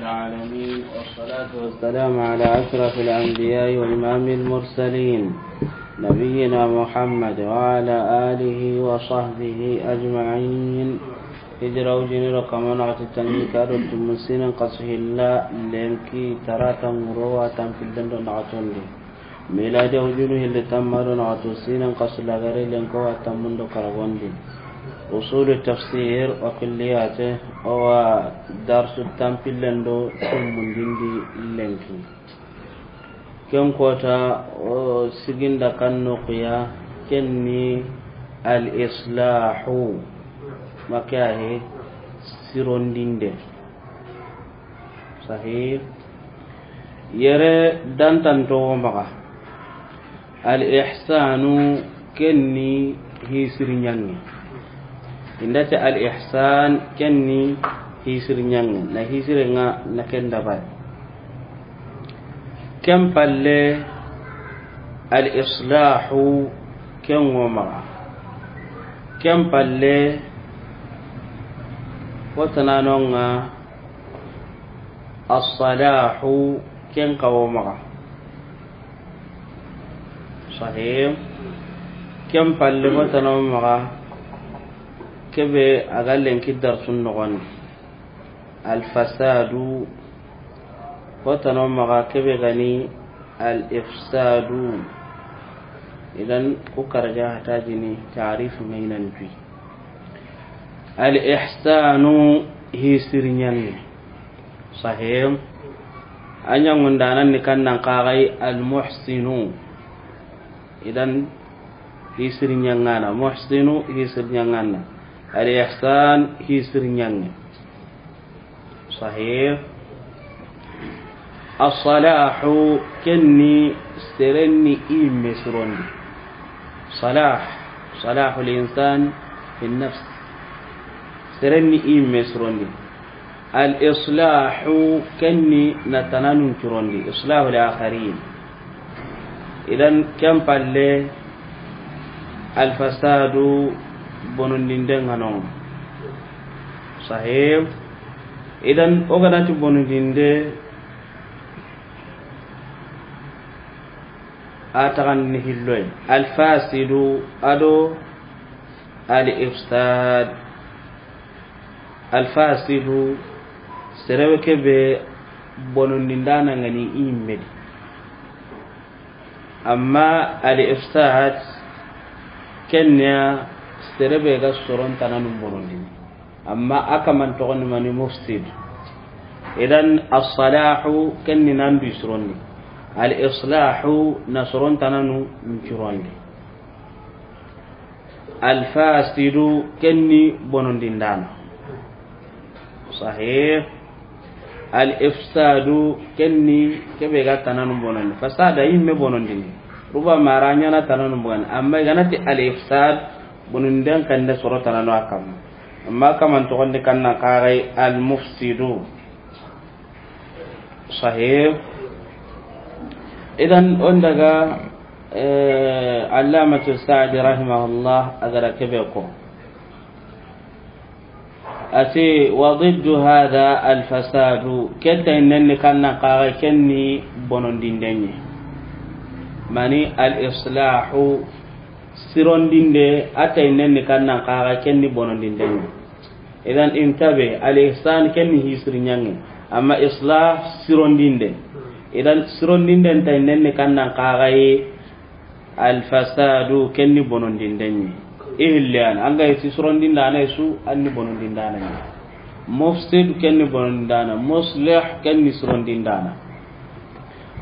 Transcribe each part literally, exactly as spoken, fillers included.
العالمين، والصلاة والسلام على أشرف الأنبياء وإمام المرسلين، نبينا محمد وعلى آله وصحبه أجمعين. Hijira wujini do kama naxati tanjikke do tumu siinen xasu hilla lenki tarata ŋuro wa tanpillen do naxatondi. Miladi wujunu hilli tanmu do naxatu siinen xasu lagare lenki wa tanmun do karagondi. Usulu tafsir wa kulliyate, o wa darsu tanpillen do tumundindi lenki. Ken kota o siginda kan noxuya, ken ni al islahu, ma ke ya he, sirondinde. Sahih. Yere dantanto wo maxa. Al ihsanu, ken ni hisiri ɲaŋe. I nda ti al ihsan, ken ni hisiri ɲaŋe. Na hisire ŋa na ken dabari. Ken palle, al islahu, ken wo maxa. Ken palle, wo tanano ŋa, as-salahu, ken xa wo maxa. Sahih. Ken palle, wo tanano maxa, kebe a ga lenki darsun noxondi. Al fasadu, wo tanano maxa, kebe ga ni al ifsadu. Idan ku karaja hatajini taarifu ŋa i nan tu. Al ihsanu, hisiri ɲaŋe. Sahih. A ɲaŋundanan ni kan nan xa ga yi al muhsinu. Idan hisiri ɲaŋana, muhsinu hisiri ɲaŋana. Al ihsan hisiri ɲaŋe. Sahih. As-salahu, ken ni seren ni i yimme sirondi. Salah, salahul insan fi nafs. Seren ni i yimme sirondi. Al islahu, ken ni na tananun curondi, islahul akharin. Idan ken palle, al fasadu, bonondinden ŋa no. Sahih. Idan o ga na ti bonondinde, a taxan ni hilloy. Al fasidu ado al ifsad. Al fasidu, serewe kebe bonondindana ŋa ni i yimme di. Amma al ifsad, ken ni ya serebe ga soron tananun bonondini. Amma a kaman toxondi mani mufsid. Idan as-salahu, ken ni nan du sirondi. Al islahu, na soron tananu curondi. Al fasidu, ken ni bonondindana. Sahih. Al ifsadu, ken ni kebe ga tananu bonondi. Fasada yimme bonondini. Ruba mara ɲana tananu bonondi. Amma i ga na ti al ifsad, bonondin kande soro tananu a kamma. Amma kaman toxondi kan nan xa ga yi al mufsidu. Sahih. Idan o n daga, eh, Allamatu Sa'di rahimahullah a ga da kebe ko. A ti, wa diddu hadha al fasadu, ke tayindenni kan nan xa ga yi ken ni bonondinden ɲi. Mani al islahu, sirondinde, a tayindenni kan nan xa ga yi ken ni bonondinden ɲi. Idan intabe, al ihsan ken ni hisiri ɲaŋe, amma islah sirondinde. Idan sirondinden tayinden ni kan nan xa ga yi, al fasadu ken ni bonondinden ɲi. I hilli yani, an ga yi ti sirondindana su, an ni bonondindana ɲi. Mufsid ken ni bonondindana, muslih ken ni sirondindana.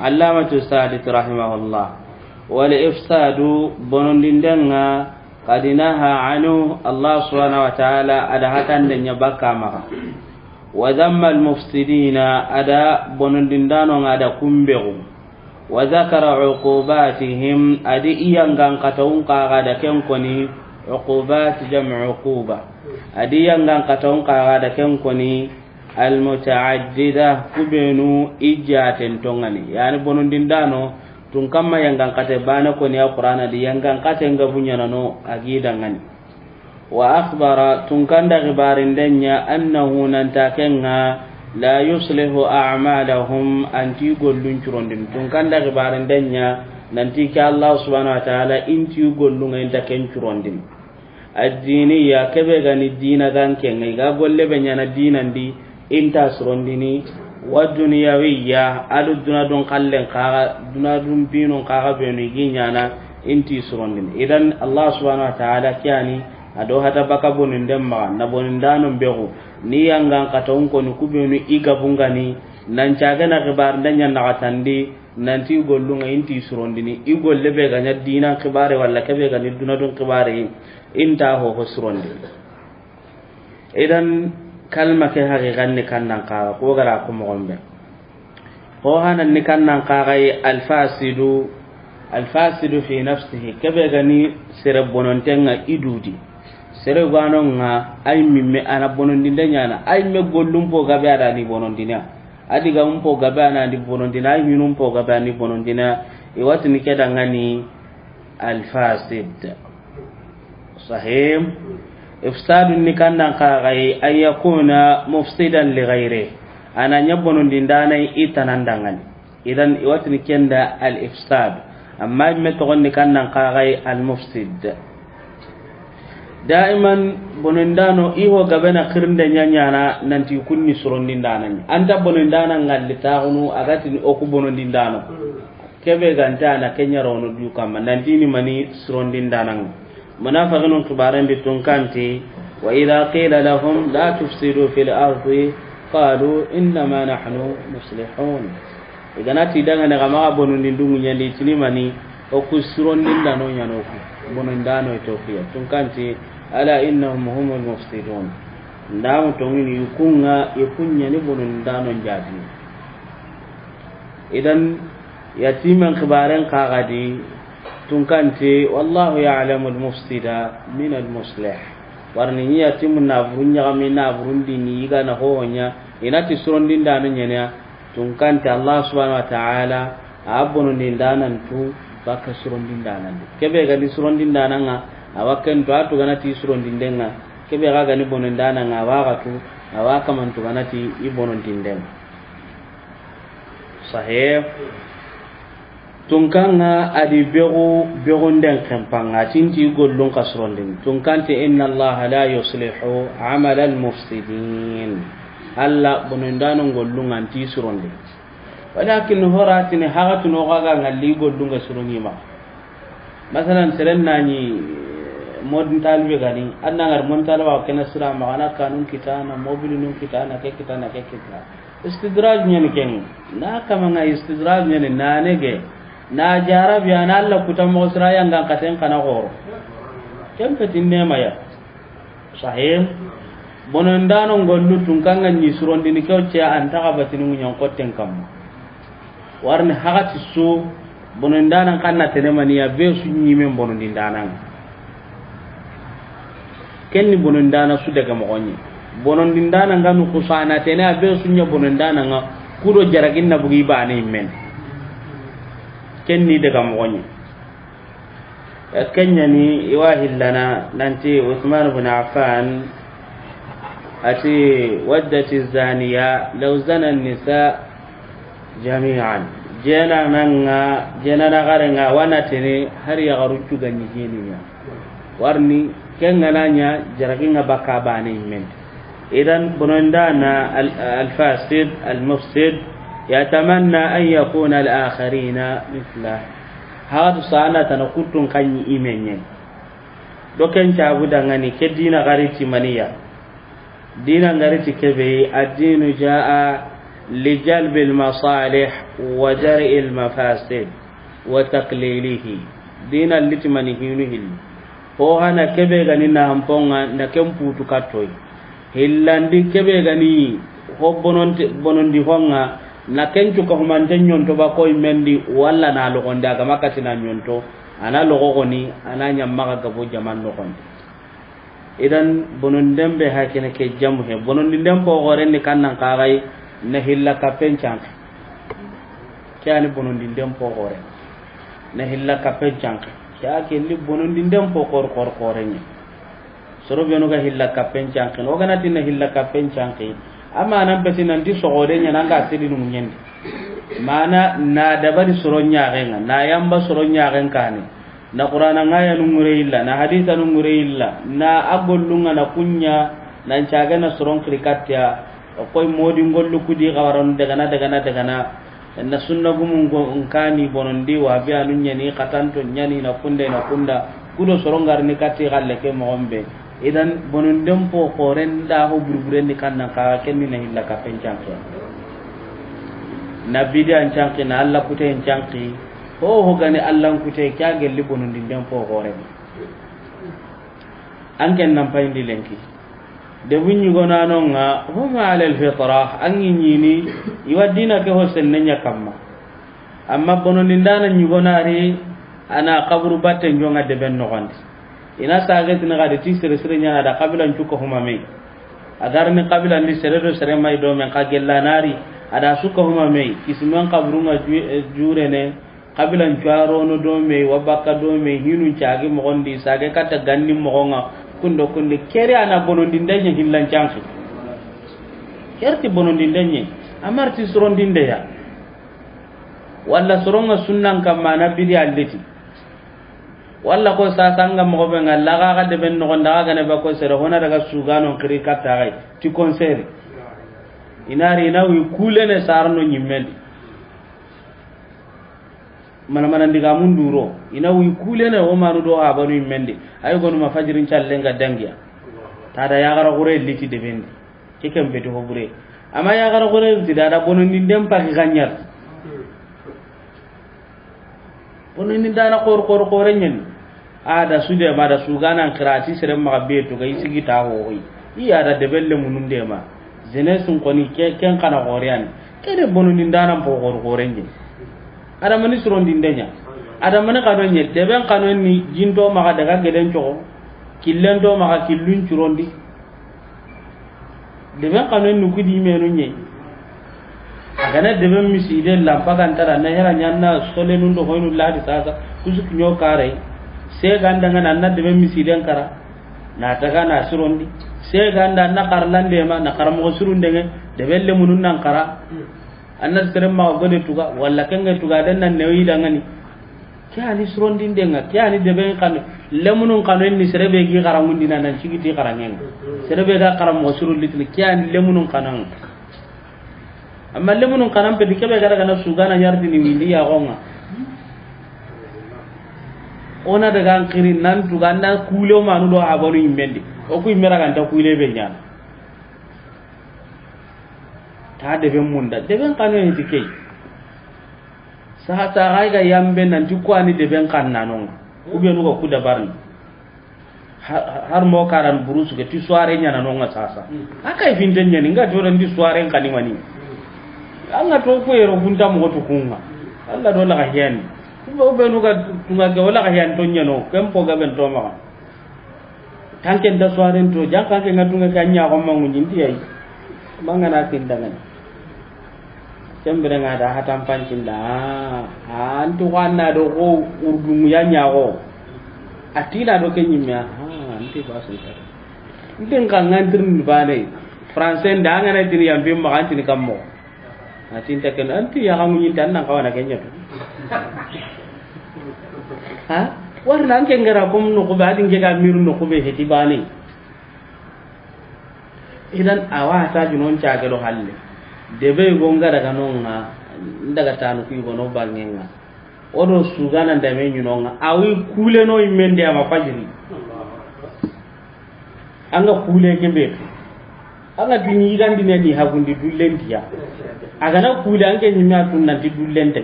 Allamatu Sa'di rahimahullah. Wal ifsadu, bonondinden ŋa, qad naha anhu, Allah subhanahu wa ta'ala a da hatande ɲa bakka maxa. Wa dhamma al mufsidina, a da bonondindano ŋa a da kumbexu. Wa dhakara uqubatihim, a di i yangan katawun xa ga da ken koni, uqubat jam'u uquba. A di yangan katawun xa ga da ken koni, al muta'addida, kubenu i jaten tongani. Yani bonondindano, tun kamma yangan kate bane koni a Qur'ana di yangan kate nga buɲanano a gi dangani. Wa akhbara, tun kanda xibarinden ɲa, annahu, nanta ken ŋa, لا يصلح أعمالهم, a nta i gollun curondini. Tun kan da xibaaren da ɲa, nanti ke Allah subhanahu wa ta'ala, i nta i gollun ŋa, i nta ken curondini. Addiniya, ke be ga ni diina ganke ŋa, i ga golle be ɲaana diinan di, i nta sirondini. Wa duniyawiyya, a do duna dun xallen xaxa, duna dun binun xaxa benu i gi ɲaana, i nta i sirondini. Idan, Allah subhanahu wa ta'ala ke ya ni, a do hata baka bonunden maxa, na bonundanon bexu, ni yangan xata wun koni ku benu i gabun ga ni, nan caage na xibaaren da ɲa naxatandi, nanti i gollun ŋa i nta i sirondini, i golle be ga ɲa diinan xibaare walla ke be ga ni duna dun xibaare, i nta ho ho sirondi. Idan, kalma ke haqiqan ni kannan xaxa, ko gara ko moxon be. Ko hanan ni kannan xaxa yi alfasidu, alfasidu fi nafsihi, ke be ga ni sere bononten ŋa i dudi. Sere gwanon ŋa, ay mimme a na bonondinde ɲaana, ay me gollun po gabe a da ni bonondina. A digamun po gabe a na ni bonondina, ay hinun po gabe a ni bonondina. I wa ti ni ke da ŋa ni alfasid. Sahih. Ifsadun ni kannan xaxa yi, an yakuna mufsidan li ghayri. A na ɲa bonondindaana i tanan da ŋa ni. Idan, i wa ti ni ken da al ifsad. Amma i me toxon ni kannan xaxa yi al mufsid. Daiman, bonondaano, i ho gabe na xirinde ɲa ɲaana, nanti kun ni sirondindaana ɲa. A nta bonondaana ŋalli taxunu, a ga ti ni o ku bonondindaano. Ke be ga nta na ke ɲa rono du kamma, nanti ni mani sirondindaana ŋa. Munafiqinun xibaaren di tun kan ti, وإذا قيل لهم لا تفسدوا في الأرض قالوا إنما نحن مصلحون. I ga na ti daŋa ne xa maxa bonondindu ɲaandi, i ti ni mani, o ku sirondindaano ɲa no ku. Bonondaano i to ku ya. Tun kan ti, ألا إنهم هم المفسدون. Ndamu toŋini i kun ŋa, i kun ɲa ni bonondaano n jaati. Idan, yatimen xibaaren xaxa di, tun kan ti, والله يعلم المفسد من المصلح. Warni ni yatimu na burun ɲaxami, na burun di ni i ga na ho ho ɲa, i na ti sirondindaano ɲa ni ya, tun kan ti Allah subhanahu wa ta'ala, a bonondindaana n tu baka sirondindaana ndi. Ke be ga ni sirondindaana ŋa, a wa ken tu a tu ga na ti sirondinden ŋa. Ke be ga ga ni bonondaana ŋa, a wa ga tu, a wa kaman tu ga na ti i bonondinden ŋa. Sahih. Tun kan ŋa a di bexu, bexunden xenpan ŋa, a ti n ti gollun xa sirondini. Tun kan ti, إن الله لا يصلح عمل المفسدين. Alla bonondaano gollun ŋa a nta i sirondini. Walakin horatini haxatunu xa ga ŋalli gollun ŋa sironi ma. Masalan, seren na ɲi modin talibe ga ni, an na ŋari modin taliba ke na sira maxa, a na kanun kita, na mobilinun kita, na ke kita, na ke kita. Istidraj ɲa ni ken. Na kama ŋa istidraj ɲa ni, na nege, na jarabi, a na Alla kuta moxo sira yangan xaten xa na xoro. Ken petin nema ya. Sahih. Bonondaano gollu tun kan ŋa ɲi sirondini ke o ce an ta xa batini ŋuɲan xotten kamma. Warni haxati su, bonondaanan xa na tene mani ya be su ɲimen bonondindaana ŋa. Ken ni bonondaana su daga moxo ɲi. Bonondindaana ŋa nu xusana tene a be su ɲa bonondaana ŋa, ku do jaragin na bugi baane i men. Ken ni daga moxo ɲi. Ken ɲa ni i wa hillana nanti Usman bin Affan a ti, ودت الزانية لو زنى النساء جميعا. Jena na ŋa, jena na xare ŋa, wa na tene hari yaxaru cu ga ɲi jeni ɲa. Warni, ken ga na ɲa, jaragi ŋa baka baane i men. Idan, bonondaana al-, الفاسد المفسد يتمنى أن يكون الآخرين مثله. Haxatu sana tana kuttun xa ɲi i men ɲa. Do ken cabu daŋa ni ke diina ga ri ti mani ya. Diina ga ri ti ke be, الدين جاء لجلب المصالح ودرء المفاسد وتقليله. Diina li ti mani hinu hilli. Ho hana ke be ga ni na hampon ŋa na ken putu kattoy. Hillandi ke be ga ni ho bononte, bonondi ho ŋa na ken cu ka humante ɲonto ba koy mendi walla na loxondi a ga ma kati na ɲonto. A na loxo xoni, a na ɲa maxa gabo jaman noxondi. Idan, bonondinden be ha kene ke jamu he. Bonondinden po xoren ni kannan xaxay na hilla kappen canke. Ke ani bonondinden po xoren. Na hilla kappen canke. Ke a ke li bonondinden po xor xor xoren ni. Soro benu ga hilla kappen canke. O ga na ti na hilla kappen canke. Amma nan peti nanti soxode ɲa na nga sedi nu ɲendi. Mana na dabari soro ɲaxen ŋa, na yamba soro ɲaxen kane. Na Qur'ana ŋa ya nu ŋure illa, na hadisa nu ŋure illa, na a gollun ŋa na kuɲa, nan caga na soron xiri katta ya. Koy modi ngollu kudi xawaranu dagana, dagana, dagana. Na sunna gumun go nkani bonondi, wa be anu ɲani, xatanto ɲani, na kunda, na kunda. Kudo soron garni katti xalle ke moxon be. Idan, bononden po xoren da ho burburen ni kannan xa, kenni na hilla ka pen canke. Na bidi an canke, na Alla kute en canke. Ho ho gani Alla kute, kya gelli bonondi den po xoren. An ken nan payindi lenki. Debu ɲugonanonga, hum ala alfitra, an ŋi ɲini, i wa dina ke ho senne ɲa kamma. Amma bonondindana ɲugonari, ana kaburu batte njonga deben noxondi. Ina sagetini xadi ti sere sere ɲana da kabilan cuka huma me. A garni kabilan di sere do sere may do men xa gellanari, ada suka huma me, kisimen kaburunga ju-, eh, jurene, Kabilan cuwarono do me, wa bakka do me, hinun cagi moxondi, sage katta ganni moxonga, kundo kundi, keri ana bonondinde ɲa hillan canki. Kerti bonondinde ɲa, amarti sorondinde ya. Walla soronga sunnan kamma na bidi alliti. Walla ko sasanga moxo be nga laga ga deben noxonda ga gane ba ko sere hona daga suganon kiri katta gai, ti konseri. Inari ina wi kulene sarno ɲimmendi. Mana mana ndiga mun duro, ina wi kulene o manu do habanu immendi. Ay gonu ma fajirin callenga dangiya. Tada ya gara gore liti debendi. Kikem beti ho bure. Ama ya gara gore liti dada bonondi ndem paki ganyar. Bonondi dana kor kor kore nyen. Ada sude ma da sugana kirati sere ma be to ga isigi ta ho hoy. Iya da debelle mununde ma. Jeunesse koni ke ken kana gore yani. Kede bonondi dana po kor kore nyen. Adamani surondinde ɲa. Adamani kano ɲe, deben kano ni jinto maxa daga geden coxo, killen to maxa killun curondi. Deben kano ni kudi menu ɲe. A gana deben miside lampa gantara na hera ɲanna solenun do hoynu ladi sasa, kusu kiɲo kare. Se ganda ngana na deben misiden kara. Na taga na surondi. Se ganda na karlande ma, na karamo surundenge, deben lemunun nan kara. Anna sere maxa gode tuga, walla kenge tuga, den nan newi dangani. Ke ani surondinde nga, ke ani deben kano, lemunun kano ni sere be gi xarangundina nan cigiti xarangenga. Sere be ga xaramo surun litini, ke ani lemunun kano nga. Amma lemunun kanan pedi kebe ga daga na sugana ɲartini windi ya xonga. Ona daga an kiri nan tuga, na kule o manu do habanu immendi. O ku immera ganta kule be ɲana. Ta deben munda, deben kano heti key. Saha saha ay ga yambe nanti ko ani deben kannanonga. Kubenu ga ku dabarni. Ha-, har mo karan burusu ke ti soirée ɲananonga sasa. Aka finten ɲani nga to dan di soirée kani mani. Anga to ko yero kunta mo to kunga. Allah do la ga hiyani. Kuba ubenu ga tunga ga wala ga hiyan to ɲano. Kempo ga ben to ma. Tanke nda soiren to, janka ke nga tunga ka ɲa ko mangu ɲinti yayi. Mangana tindangan. Kembere nga da hatan pancinda. Ah, antu wanna do ko urdu ya ɲa ko. Atina do ke ɲimme, ah, anti basun ta. Ndin ka ngantir ni bane. Français nda ngana tini yambi ma antini kammo. A tinta ken, anti ya xamu ɲinta nan kawana ken ɲatu. Ha? Warna an ken gara kom no ko ba din ke ga miru no ko be heti bani. Idan awa ta junon ca ke do halle. Debe go nga daga nonga, ndaga tanu ku go no bangenga. Odo sugana ndame ɲinonga. Awi kuleno imende ama fajiri. Anga kule ke be. Anga dini yigandine ni hagundi dullentiya. Agana kule anke ɲimme a tun nanti dullente.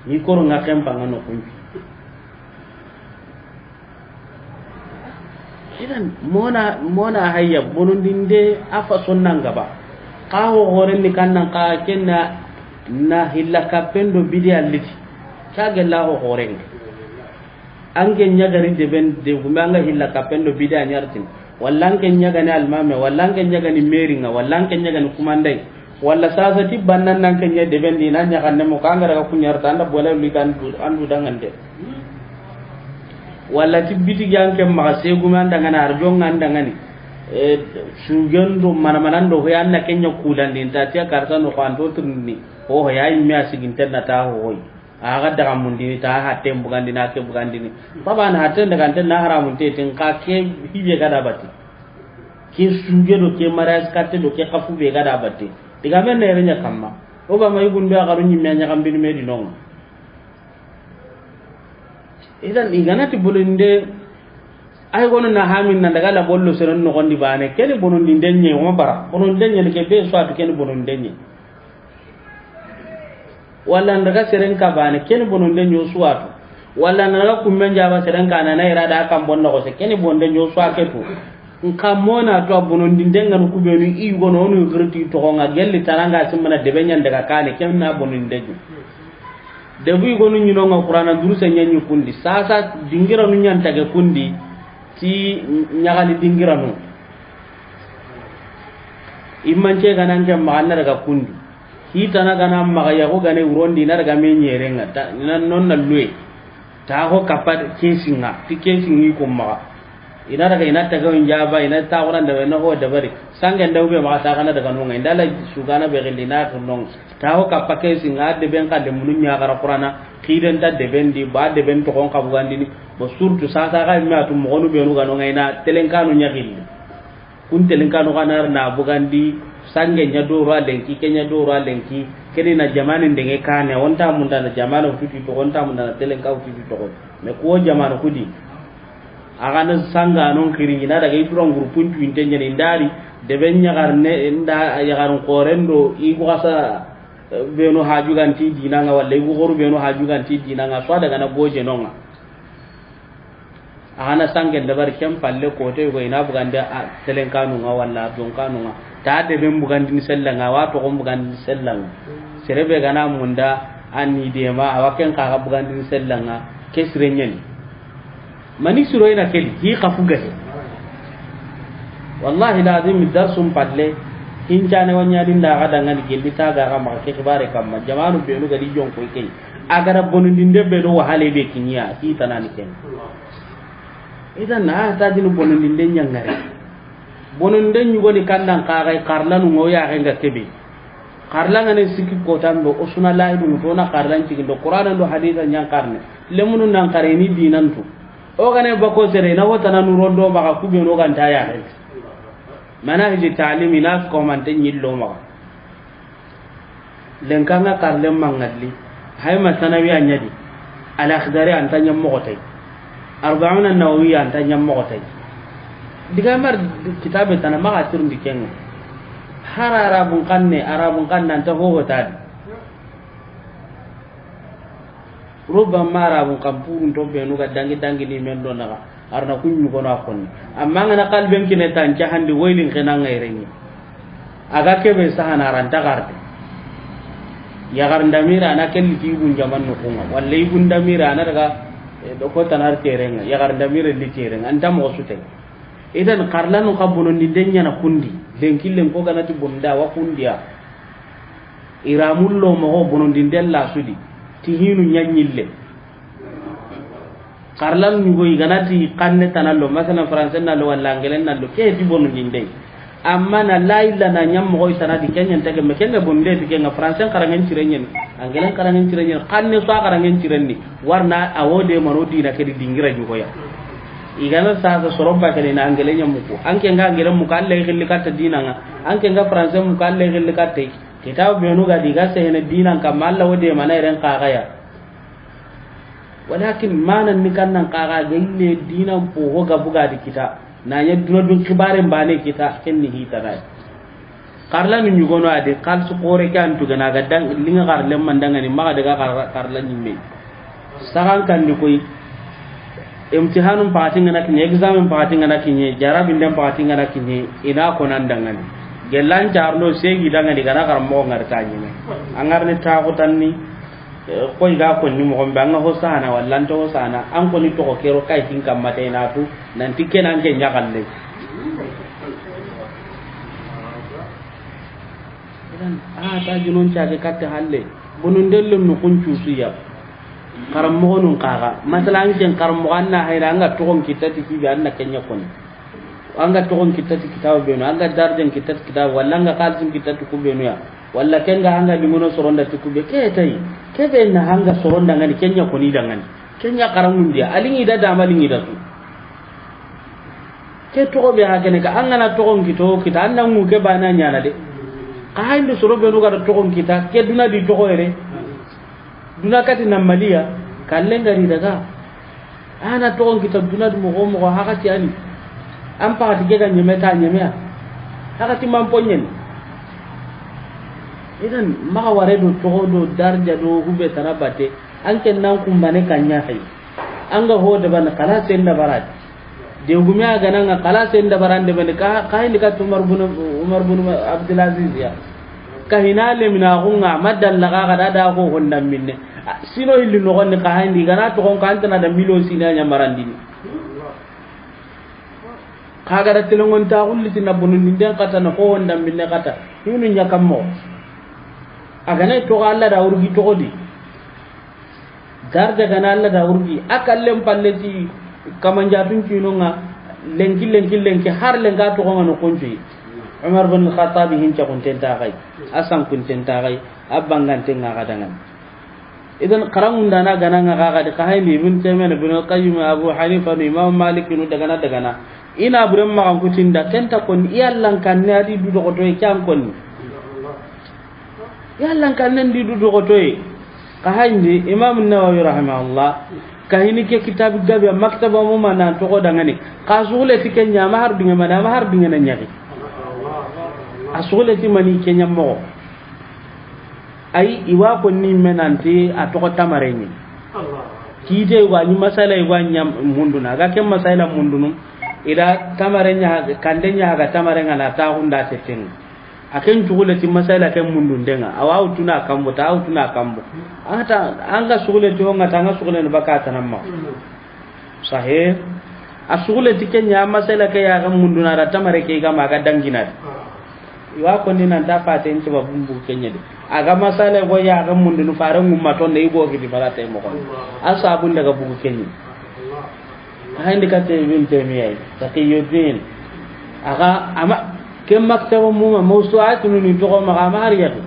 Ni koro nga kempa nga no kunci. Idan mona, mona hayya bonondinde a fa sonnan gaba. Ka ho horen ni kannan ka kenna na hilla kappen do bidi alliti. Ka gella ho horen. Anke ɲagari deben de gumbe anga hilla kappen do bidi a ɲartin. Walla anke ɲagani almame, walla anke ɲagani meringa, walla anke ɲagani kumandai. Walla sasa ti bannan nan ke ɲa deben di na ɲaxanne mo kangara ga kuɲarta anda bola li kan du, andu dangande. Walla ti bitigi anke maxa segume andangani, arjonga andangani. E, sugen do manamanan do hoy, an na ken ɲa kulandi, nta ti a karsa no ko an to tirni. Ho hoy, ay mi a siginten na ta ho hoy. A ga daga mundini ta ha tem bugandini, a ke bugandini. Baba na haten daga anten na haramun te tin ka ke hibe ga da bati. Ke suge do, ke maras katte do, ke kafu be ga da bati. Diga men ne renya kamma. O ba ma yugun be a garu ɲimme ɲa gambini me di non. Idan i gana ti bonondinde, ay gono na hamin na daga la bollo seren noxondi bane, keni bonondinde ɲe, o ma bara bonondinde ɲe ke be, soit keni bonondinde ɲe. Walla n daga seren ka bane, keni bonondinde ɲe, soit. Walla n daga kummen jaba seren ka na, na ira da kan bon noxo se, keni bonondinde ɲe, soit ke to. Nka mona to a bonondinde ŋa no kubenu i gono, onu girti toxo ŋa, gelli tananga simmana debe ɲan daga kane, ken na bonondinde ɲe. Debu i gonu ɲinonga Qur'ana duruse ɲaɲi kundi. Sasa dingiranu ɲantage kundi ti ɲagali dingiranu. Imance gana nke maxa na daga kundi. Hitana gana maxa yaxu gane wurondi na daga me ɲerenga. Ta, na non na luwe. Ta ho kappa kesinga. Ti kesingi ko maxa. Ina daga ina taga on jaba, ina ta Qur'an da na ho dabari. Sangen da ube ma ta kana daga nonga. Inda la sugana be gindi na to nonga. Ta ho kappa kesinga de ben ka de munu ɲa gara Qur'ana. Kiden ta de ben di ba de ben to kon ka bugandini. Bo surtout sasa ga mi atu mo gonu be nu ga nonga ina telenkanu ɲa gilli. Kun telenkanu ga na bugandi sange ɲa doro a lenki, ke ɲa doro a lenki. Kedi na jamani ndenge kane, onta munda na jamana futu to, onta munda na telenka futu to. Me ko jamana kudi. A ga na sanga non kiri, ina daga i duran groupe ntu inte ɲani ndari, debe ɲagarne, nda ɲagarun korendo, i ko asa, eh, beno haju ganti dinanga, walla i ko horu beno haju ganti dinanga, so daga na goje nonga. A ga na sangen dabari ken palle kote go ina bugande a telenkanu nga walla donkanu nga. Ta deben bugandini sellanga, wa toxon bugandini sellanga. Serebe gana munda, a ni dema, a wa ken kaga bugandini sellanga, ke sire ɲani. Mani siro ina kedi, hi kafu gahe. Wallahi lazim darsum palle, hincane wa ɲani nda ga dangani gelli ta ga ga maxa ke xibare kamma, jamanu benu gadi jonko i key. A gara bonondinde be do wahale be kiɲa, hi tanani ken. Idan a tajini bonondinde ɲangare. Bonondinde ɲugoni kandan kaxay, xarlanu ŋo yaxenga kebe. Xarlangane sikki kotan do, o suna lahidu to na xarlan cigindo, Qur'ana do hadisa ɲankarne. Lemunu nan xare ni dinantu. O gane bako sere, na wotana nurondo maxa kubeno ganta yaxen. Manahiji talimi na su komante ɲillo maxa. Lenkanga karlen mangalli, hay ma sanawiya ɲadi, al akhdari anta ɲammoxotay, arbauna nawawiya anta ɲammoxotay. Diga mar kitabe tana maxa tirndi kenga. Har arabun kanne, arabun kanne anta hohotadi. Rubama arabun kan purun to benu ga dangi dangi ni men do naga. Arna kun ɲugono a konni. Amma ngana kalben kine tan cahandi waylin xenanga irengi. Aga kebe sahana aranta garde. Yagar ndamira ana kelli ti ibun jaman no kunga. Walla ibun ndamira ana daga, eh, do ko tanar terenga. Yagar ndamira li terenga. Anta mo sute. Idan karlanu ka bonondinde ɲana kundi. Lenkillen ko ganati bonda wa kundiya. Iramullo mogo bonondinde la sudi. Ti hinu ɲaɲille. Xarlan ɲugo i ganati xanne tanallo, masalan, français nallo walla angelen nallo, ke ti bonondinde. Amma na la illa na ɲam mogo i tanadi, ke ɲan tege me, ke nga bonde ti ke nga français xarangen cirenyen, angelen xarangen cirenyen, xanne so xarangen cirenni, warna a wode mano dina ke di dingira ɲugoya. I gana sasa soro bakene na angelen ɲamuku, anke nga angelen muku, Alla i xilli katta dinanga, anke nga français muku, Alla i xilli katta. Kitabu benu ga di ga sehene dinan kamma, Alla wode mana iren xaxaya. Walakin manan ni kannan kaga gelle dinan po ho ga buga di kita. Na ɲa duna dun xibaren bane kita, ken ni hitana. Xarlanu ɲugono adi, xalsu xore ke antu gana ga dang, linga xarlen mandangani, maxa daga xar-, xarla ɲimme. Saxan kandi koy, imtihanun paxati ngana kiɲe, examen paxati ngana kiɲe, jarabinden paxati ngana kiɲe, ina konan dangani. Gellan carno segi dangani gana xar moxo ngari ta ɲime. An garni taxutanni, Eh, koy ga konni moxon be, an ga ho sahana walla an to ho sahana, an koni toxo kero kay tin kamma te na tu, nanti ken an ke ɲaxalle. Idan, a ta junon cage katte halle, bonondelle no kun cusuya. Xaranmoxonun xaxa, masala an ken xaranmoxo an na hayra, an ga toxon kitta ti kibe, an na ken ɲa koni. An ga toxon kitta ti kitaabu be nu, an ga darajan kitta ti kitaabu, walla an ga xaalisin kitta ti ku be nu ya, walla ken ga an ga liŋono soronda ti ku be, ke tayi, ke be na an ga soronda ŋa ni, ken ɲa koni da ŋa ni, ken ɲa xaraŋundi ya, a liŋi da dama liŋi da su. Ke toxo be ha kene ka, an ga na toxon kito kita, an na ŋu ke baane ɲaana de. Xa hayindi soro be nu ga da toxon kita, ke duna di toxo yere. Duna kati na maliya, kallen ga ri daga. An na toxon kita duna di moxo moxo, hakati a ni. An paxati ke ga ɲeme ta ɲeme ya. Hakati man poɲen. Idan, maxa ware do toxo do darja do hube tara bate, an ken nan kumbane kanya hay. An ga ho da ban kala sen da barati. De gume a ga na ŋa kala sen da barande bane ka, ka hayindi ka Umar bin, Umar bin Abdulaziz ya. Ka hina le mina xunŋa, ma dalla ga ga da da ko honda minne. A, sino hilli no gonni ka hayindi ga na toxon ka an tana da milo sina ɲa marandini. Ka ga da telenŋon ta xulli ti na bonondi den kata na ko honda minne kata. Hinu ɲa kammo. A ga na toxo Alla da wurgi toxo di. Darja ga na Alla da wurgi, a kallen palle ti kamanjatun kinonŋa, lenki, lenki, lenki, har lenka toxo ŋa no kunci. Umar bin Khattab hin ca kunten ta xay, a san kunten ta xay, a banganten ŋa ga da ŋa ni. Idan, xaraŋunda na ga na ŋa ga ga di, xa hayindi Ibn Taymiyyah, Ibn Qayyim, Abu Hanifa, Imam Malik, nu daga na, daga na. I na buren maxan kutinda, ken ta koni, i Allan kanne a di du doxoto, i ke an koni. Yalla n kannen di du doxotoye. Xa hayindi Imam Nawawi rahimahullah, ka hini ke kitabi gabe, maktaba mu ma nan toxo dangani. Xa suxule ti ke ɲa, a ma har dunge mani, a ma har dunge na ɲaxi. A suxule ti mani ke ɲa moxo. Ay, i wa ko ni menanti a toxo tamare ni. Kite wa ni masala i wa ɲa munduna. Ga ke masala mundunu. Ida tamare ɲa, kande ɲa ga tamare ŋa na ta hunda tetten. A ken cugule ti masala ken mundundenga, a wa wutuna kambo, ta wutuna kambo. Ata, an ga sugule ti honga, ta an ga sugule ni baka tanamma. Sahe, a sugule ti kenya masala ke ya ga munduna da tamare ke ga ma ga dangina. I wa ko ni nan ta faten ti ba bumbu kenya de. A ga masala go ya ga mundunu fare ngumma tonde i go gidi fala tay mo ko. A sabun daga bugu kenyi. Hayndi kate Ibn Taymiya, Taqiyuddin. Aga, ama, ke maktaba mu ma, mawsu'atun ni toxo ma, ama har yaxi.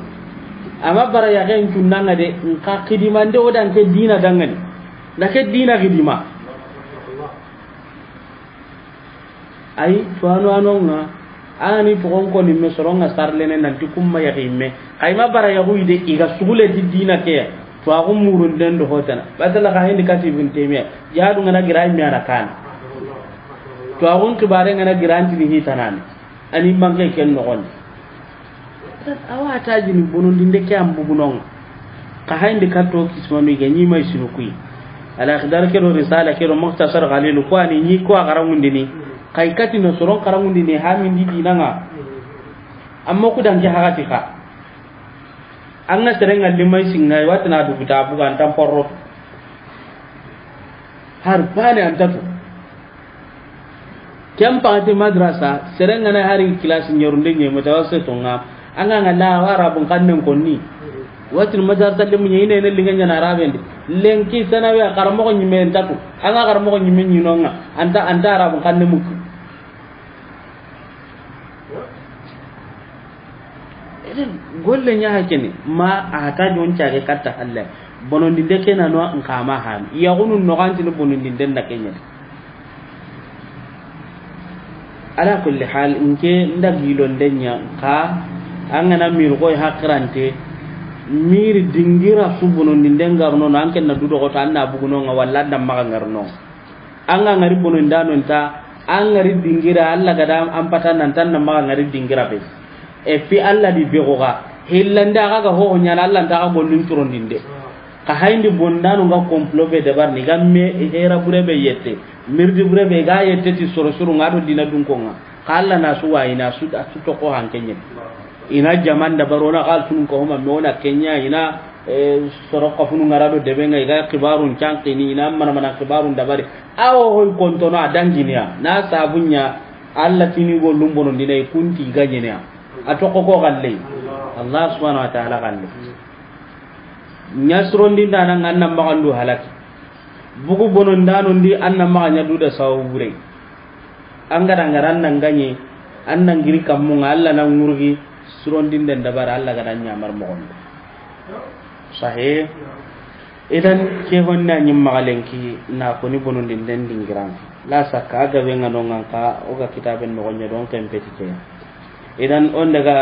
Ama bara yaxen cunnanga de, nka xidimande o dan ke dina dangani. Na ke dina xidima. Ay, tuwanu anonga, ani toxon ko ni me soronga sarlene nanti kumma yaxi me. Kayma bara yaxu ide, iga sugule ti dina ke. Tuwaxu murunden do hotana. Basala xa hindi kati Ibn Taymiya. Jihadu ngana gira i me ana kan. Tuwaxun xibare ngana gira antini hitanani. Ani manke ken noxondi. Awa tajini bonondinde ke an bugunonga. Xa hayndi katto kismanu iga ɲi may sinu kuyi. Al Akhdar ke do Risala ke do Mukhtasar Khalil ko ani ɲi ko a xarangundini. Kay kati no soron xarangundini hamindi dinanga. Amma ku danke hagati xa. An ga serenga limay singa, i watina duguta buga an tan porro. Har bane an tatu. Ken pati madrasa, serenga na hari classe ɲorunde ɲe mutawassito nga. An ga nga la Arabun kannen konni. Watin madrasa limu ɲe ine ne linga ɲana Arabendi. Lenki sanawiya karamoxo ɲime en tatu. An ga karamoxo ɲime ɲinonga. Anta, anta Arabun kanne muku. Eden golle ɲa hakene ma a ta jon cage katta halle. Bonondinde ke na no nka ma han. Yaxunu no gantini bonondinde nda kenya. Ala kulli hal, nke nda gilonde ɲa ka an gana miri koy hakirante. Miri dingira su bonondinde ngarno no an ken na du doxoto an na buguno nga walla an da maxa ngarno. An ga ngari bonondano nta, an ngari dingira, Alla gada an pata nan tan na maxa ngari dingira be. Et puis Alla di be goga, hillande aga ga ho ɲana Alla nta ga gollun turondinde. Ka hayndi bonondano nga complot be dabar ni ga me hera bure be yette, mirdi bure be ga yette ti soro soro nga do dina dunkonga. Ka Alla na su wa ina su da su to ko hankenye. Ina jaman da barona kal tun ko homa me wona kenya ina, eh, soro kafunu ngara do debe nga iga kibarun cankini ina mana mana kibarun dabari. Awo hoy kontono a danginiya na sabunya. Alla tini go lumbono dina i kunti ganyeniya. A tokko ko galle. Allah subhanahu wa ta'ala galle. Ɲasrondi ndana nganna magandu halaki. Bugu bono ndano ndi anna maga ɲa duda sawu bure. An ga da ŋari an na ŋaɲi, an na ŋiri kammun ŋa, Alla na ŋurgi, sirondinden dabari, Alla ga da ɲamar moxon di. Sahih. Idan, ke honna ɲi maxa lenki, na koni bonondinden dingiran. La sakka, a gabe ŋa no ŋa n xa, o ga kitaben noxon ɲa do n xa n peti ke. Idan, o n daga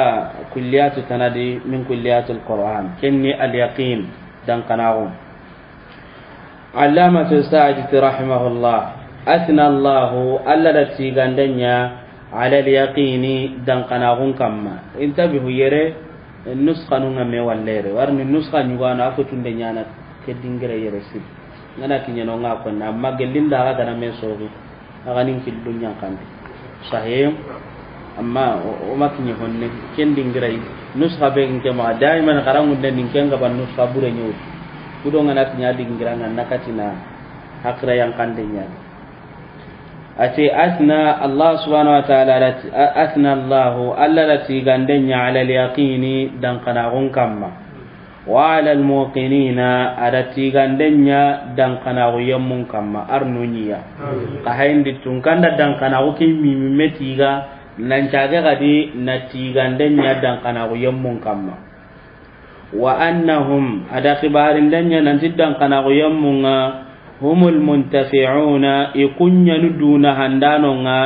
kulliyatu tana di min kulliyatul Qur'an, ken ni al yaqin, dankanaxu. Allamatu Sa'di rahimahullah, athna Allahu, Alla da tigande ɲa, ala al yaqini, dankanaxun kamma. Intabihu yere, nuskanu ŋa me walle yere. Warni nuska ɲugano, a ko tunde ɲana ke dingira yere sir. Ŋa na kiɲeno ŋa konna, amma gellinda ga gana me sogi. Axa nin killu ɲankandi. Sahih. Amma o, o ma kiɲe honne, ken dingirai. Nuska be nke ma, daiman xarangunde nin ken ga ban nuska bure ɲewu. Kudo ŋa na kiɲa dingira ŋa na katina hakira yankande ɲa. Ati athna Allah subhanahu wa ta'ala, ati, a-, athna Allahu, Alla da tigande ɲa ala al yaqini, dankanaxun kamma. Wa ala al muqinina, a da tigande ɲa dankanaxu yemmun kamma, arnu ɲiya. Amin. Xa hayindi tunkanda dankanaxu ke mimi me tiga, nan cage xadi na tigande ɲa dankanaxu yemmun kamma. Wa annahum, a da xibarinde ɲa nanti dankanaxu yemmun ŋa, humul muntafi'una, i kuɲanu duna handano ŋa,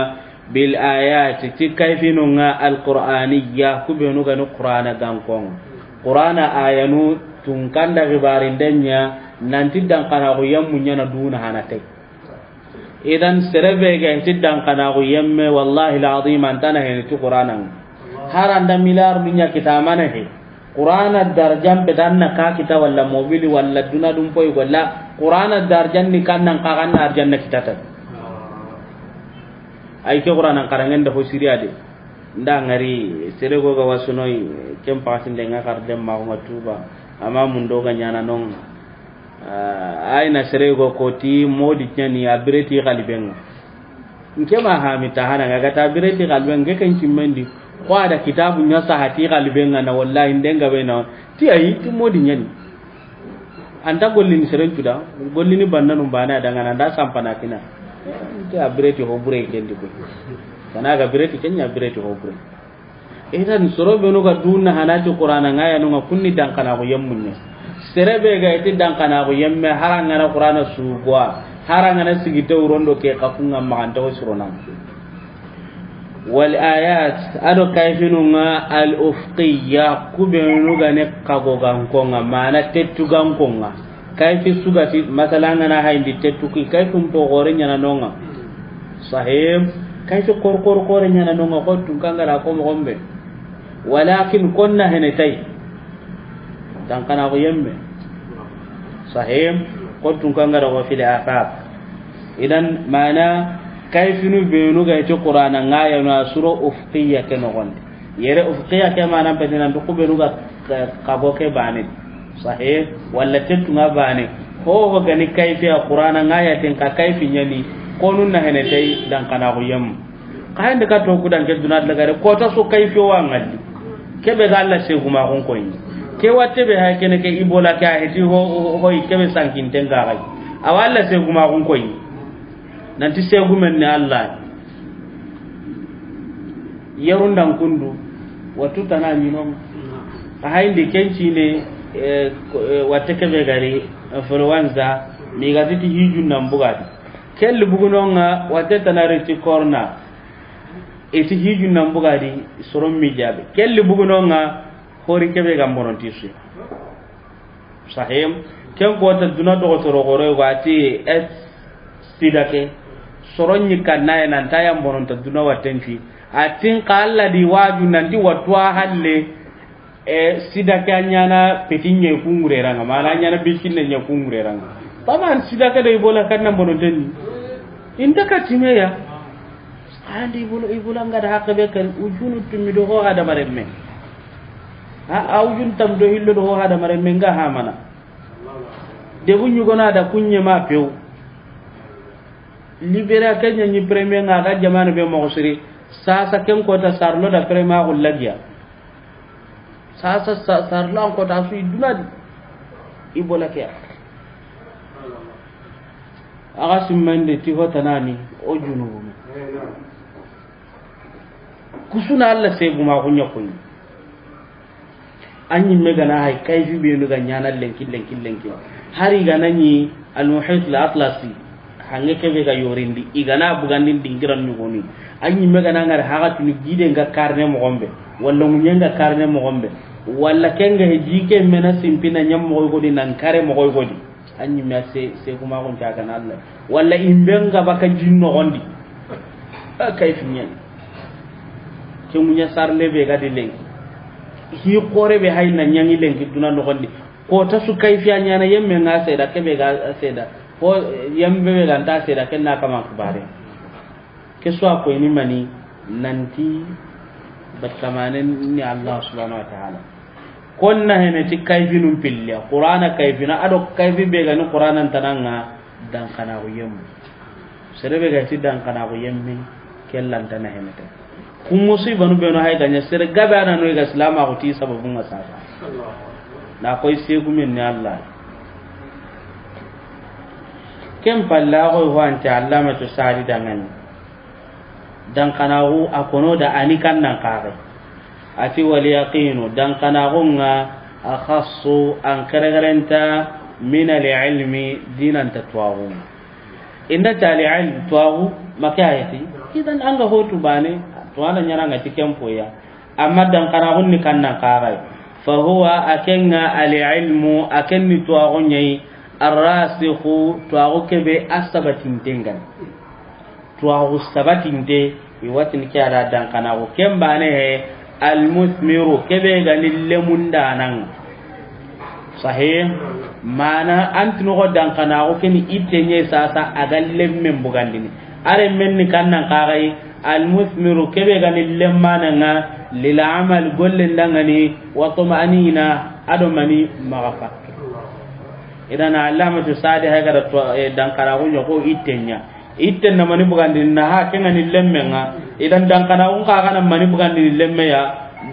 bil ayati, ti kayfinu ŋa al qur'aniyya, ku benu ga ni Qur'ana gankon ŋa. Qur'ana ayanu tunkanda xibarinde ɲa nanti dankanaxu yemmu ɲa na duna hana tay. Idan sere be ga ti dankanaxu yemme, wallahi al azim, an ta na heni ti Qur'ana ŋa. Haranda miliyaru ɲa kitamana he. Qur'ana darjan be dan na ka kita walla mobili walla duna dum poy walla Qur'ana darjan ni kan nan ka kan na arjanna kitata. Ay ke Qur'ana karangen da ho siriya de. Nda ŋari sere go ga wasunoy ken pasinde ŋa kar dem ma ko tuba. Amma mun do ga ɲana non. Ah, ay na sere go ko ti modi ɲani a bireti xaliben ŋa. Nke ma ha mi ta hana ŋa ga ta bireti xaliben ŋa, ke ken cimmendi. Ko a da kitabu ɲa sahati xaliben ŋa na, wallahi ndenga be na. Ti ay ti modi ɲani. An ta gollini seren cuda, gollini bannanu bana da ŋa na nda sampana kina. Ti a bireti ho bure kendi ko. Kana ga bireti kenya bireti ho bure. Idan soro benu ga duna hanati Qur'ana ŋa ya no ŋa kunni dankanaxu yemmunne. Sere be ga iti dankanaxu yemme harangana Qur'ana sugwa, harangana sigi tewrondo ke xa kunga maxanta wo surona. Wal ayat, ado kayfinu ŋa al ufqiyya, ku benu ga ne kago ganko ŋa, mana tettu ganko ŋa. Kayfi sugati, masala ŋa na hayindi tettu ki, kayfin po gore ɲana no ŋa. Sahim, kayfi kor kor kore ɲana no ŋa, ko tun kangara ko mo gombe. Walakin konna hene tay. Dankanaxu yemme. Sahim, ko tun kangara ko fil afaq. Idan mana kayfinu benu ga iti Qur'ana ŋa ya no suro ufqiyya ke no gonde. Yere ufqiya ke manan peti nanti ku benu ga ka-, kago ke bane. Sahih, walla tettu ŋa bane. Ho ho gani kayfi a Qur'ana ŋa ya ten ka kayfi ɲani, konun na hene tay dankanaxu yem. Ka hende ka to ku danke duna lagare, ko ta so kayfi wa ŋalli. Kebe ga Alla segumaxun koyi. Ke watte be hay kene ke ibola ke a heti ho, ho, hoy kebe sankinten ga gay. Awa Alla segumaxun koyi. Nanti segumen ni Alla. Yarundan kundu, watu tana ɲinon. A hayindi kencine, eh, ko, eh, watte kebe gari, influenza, migati ti hijun nan bugati. Kelli bugunonga, watte tana reti corona. Iti hijun nan bugadi, soron mi jabe. Kelli bugunonga, hori kebe ga mbonon tisu. Sahim, ken kota duna dogotoro gore wati et sida ke. Soron ni kannaye nan ta yam bononta duna watten fi. Atin ka Alla di waju nanti wattu a halle, e, sida ke a ɲana petin ɲe kungure ranga, mana a ɲana bikinne ɲe kungure ranga. Taban sida ke do Ebola kan nan bononten ni. Inta ka timeya. Andi Ebola, Ebola nga da hakke be kan ujunu tumi do ho hada maremme. Ha, a ujun tam do hillo do ho hada maremme nga ha mana. Debu ɲugona da kunɲe ma pew. Liberia kenya ni premier nga ga jamana be mo siri. Sasa ken kota sarlo da premier ko lagiya. Sasa sa-, sarlo an kota su iduna di. Ebola ke. Aga simmande ti hotanani o junubu. Kusuna Alla segumaxu ɲa koyi. A ɲimme ga na hay kayfi benu ga ɲaana lenki, lenki, lenki. Hari ga na ɲi Al-Muhit Al-Atlasi, hanŋe kebe ga yorindi, i ga na bugandini dingiran ɲugoni. A ɲimme ga na ŋari haxatunu gide nga karne moxon be, walla ŋuɲe nga karne moxon be, walla ke nga he jike mena simpina ɲam moxoy godi nan kare moxoy godi. A ɲimme a se, segumaxun ta ga na Alla. Walla imbe nga baka jin noxondi. A kayfi ɲani. Ke ŋuɲa sarnde be ga di lenki. Hi xore be hay na ɲaŋi lenki duna noxondi. Ko ta su kayfiya ɲaana yemme nga seda, kebe ga seda. Ko yemme be ga nta seda, ken na kaman kibare. Ke su a koyini mani nanti batamanen ni Allah subhanahu wa ta'ala. Kon na hene ti kayfinun pilliya, Qur'ana kayfina, ado kayfi be ga ni Qur'ana ntananga, dankanaxu yemmu. Sere be ga ti dankanaxu yemme, ke lanta na hene te. Ku musibanu benu hay ga ɲa sere gabe a na no i ga silamaxu ti sababun ŋa sasa. Na koy segumen ni Allah. Ken palle a xoy ho ante Allamatu Sadi dangani. Dankanaxu a kono da a ni kannan kaxe. A ti, "Wal yaqinu, dankanaxun ŋa akhassu, an keregerenta, min al ilmi, dinanta tuwaxu." Inda tali ilm tuwaxu, make ayati. Idan an ga hotu bane, tuwana ɲana nga ti ken poya. Amma dankanaxun ni kannan kaxe. Fa huwa, a ken ŋa al ilmu, a ken ni tuwaxu ɲayi, arrasikhu, tuwaxu kebe a sabatinten gani. Tuwaxu sabatinte, i watini ke a da dankanaxu. Ken bane he, almusmiru, kebe ga ni lemundanan. Sahih. Mana an tinoxo dankanaxu ke ni itte ɲe sasa a ga lemmen bugandini. Are men ni kannan kaxay, almusmiru, kebe ga ni lemmananga, lil amal, golle ndangani, wa tuma'nina, ado mani maxa fakke. Idan Allamatu Sadi hay ga da to, eh, dankanaxu ɲa ko itte ɲa. Itten na mani bugandini na ha, ken ga ni lemmen ŋa. Idan dankanaxun xa ga na mani bugandini lemme ya,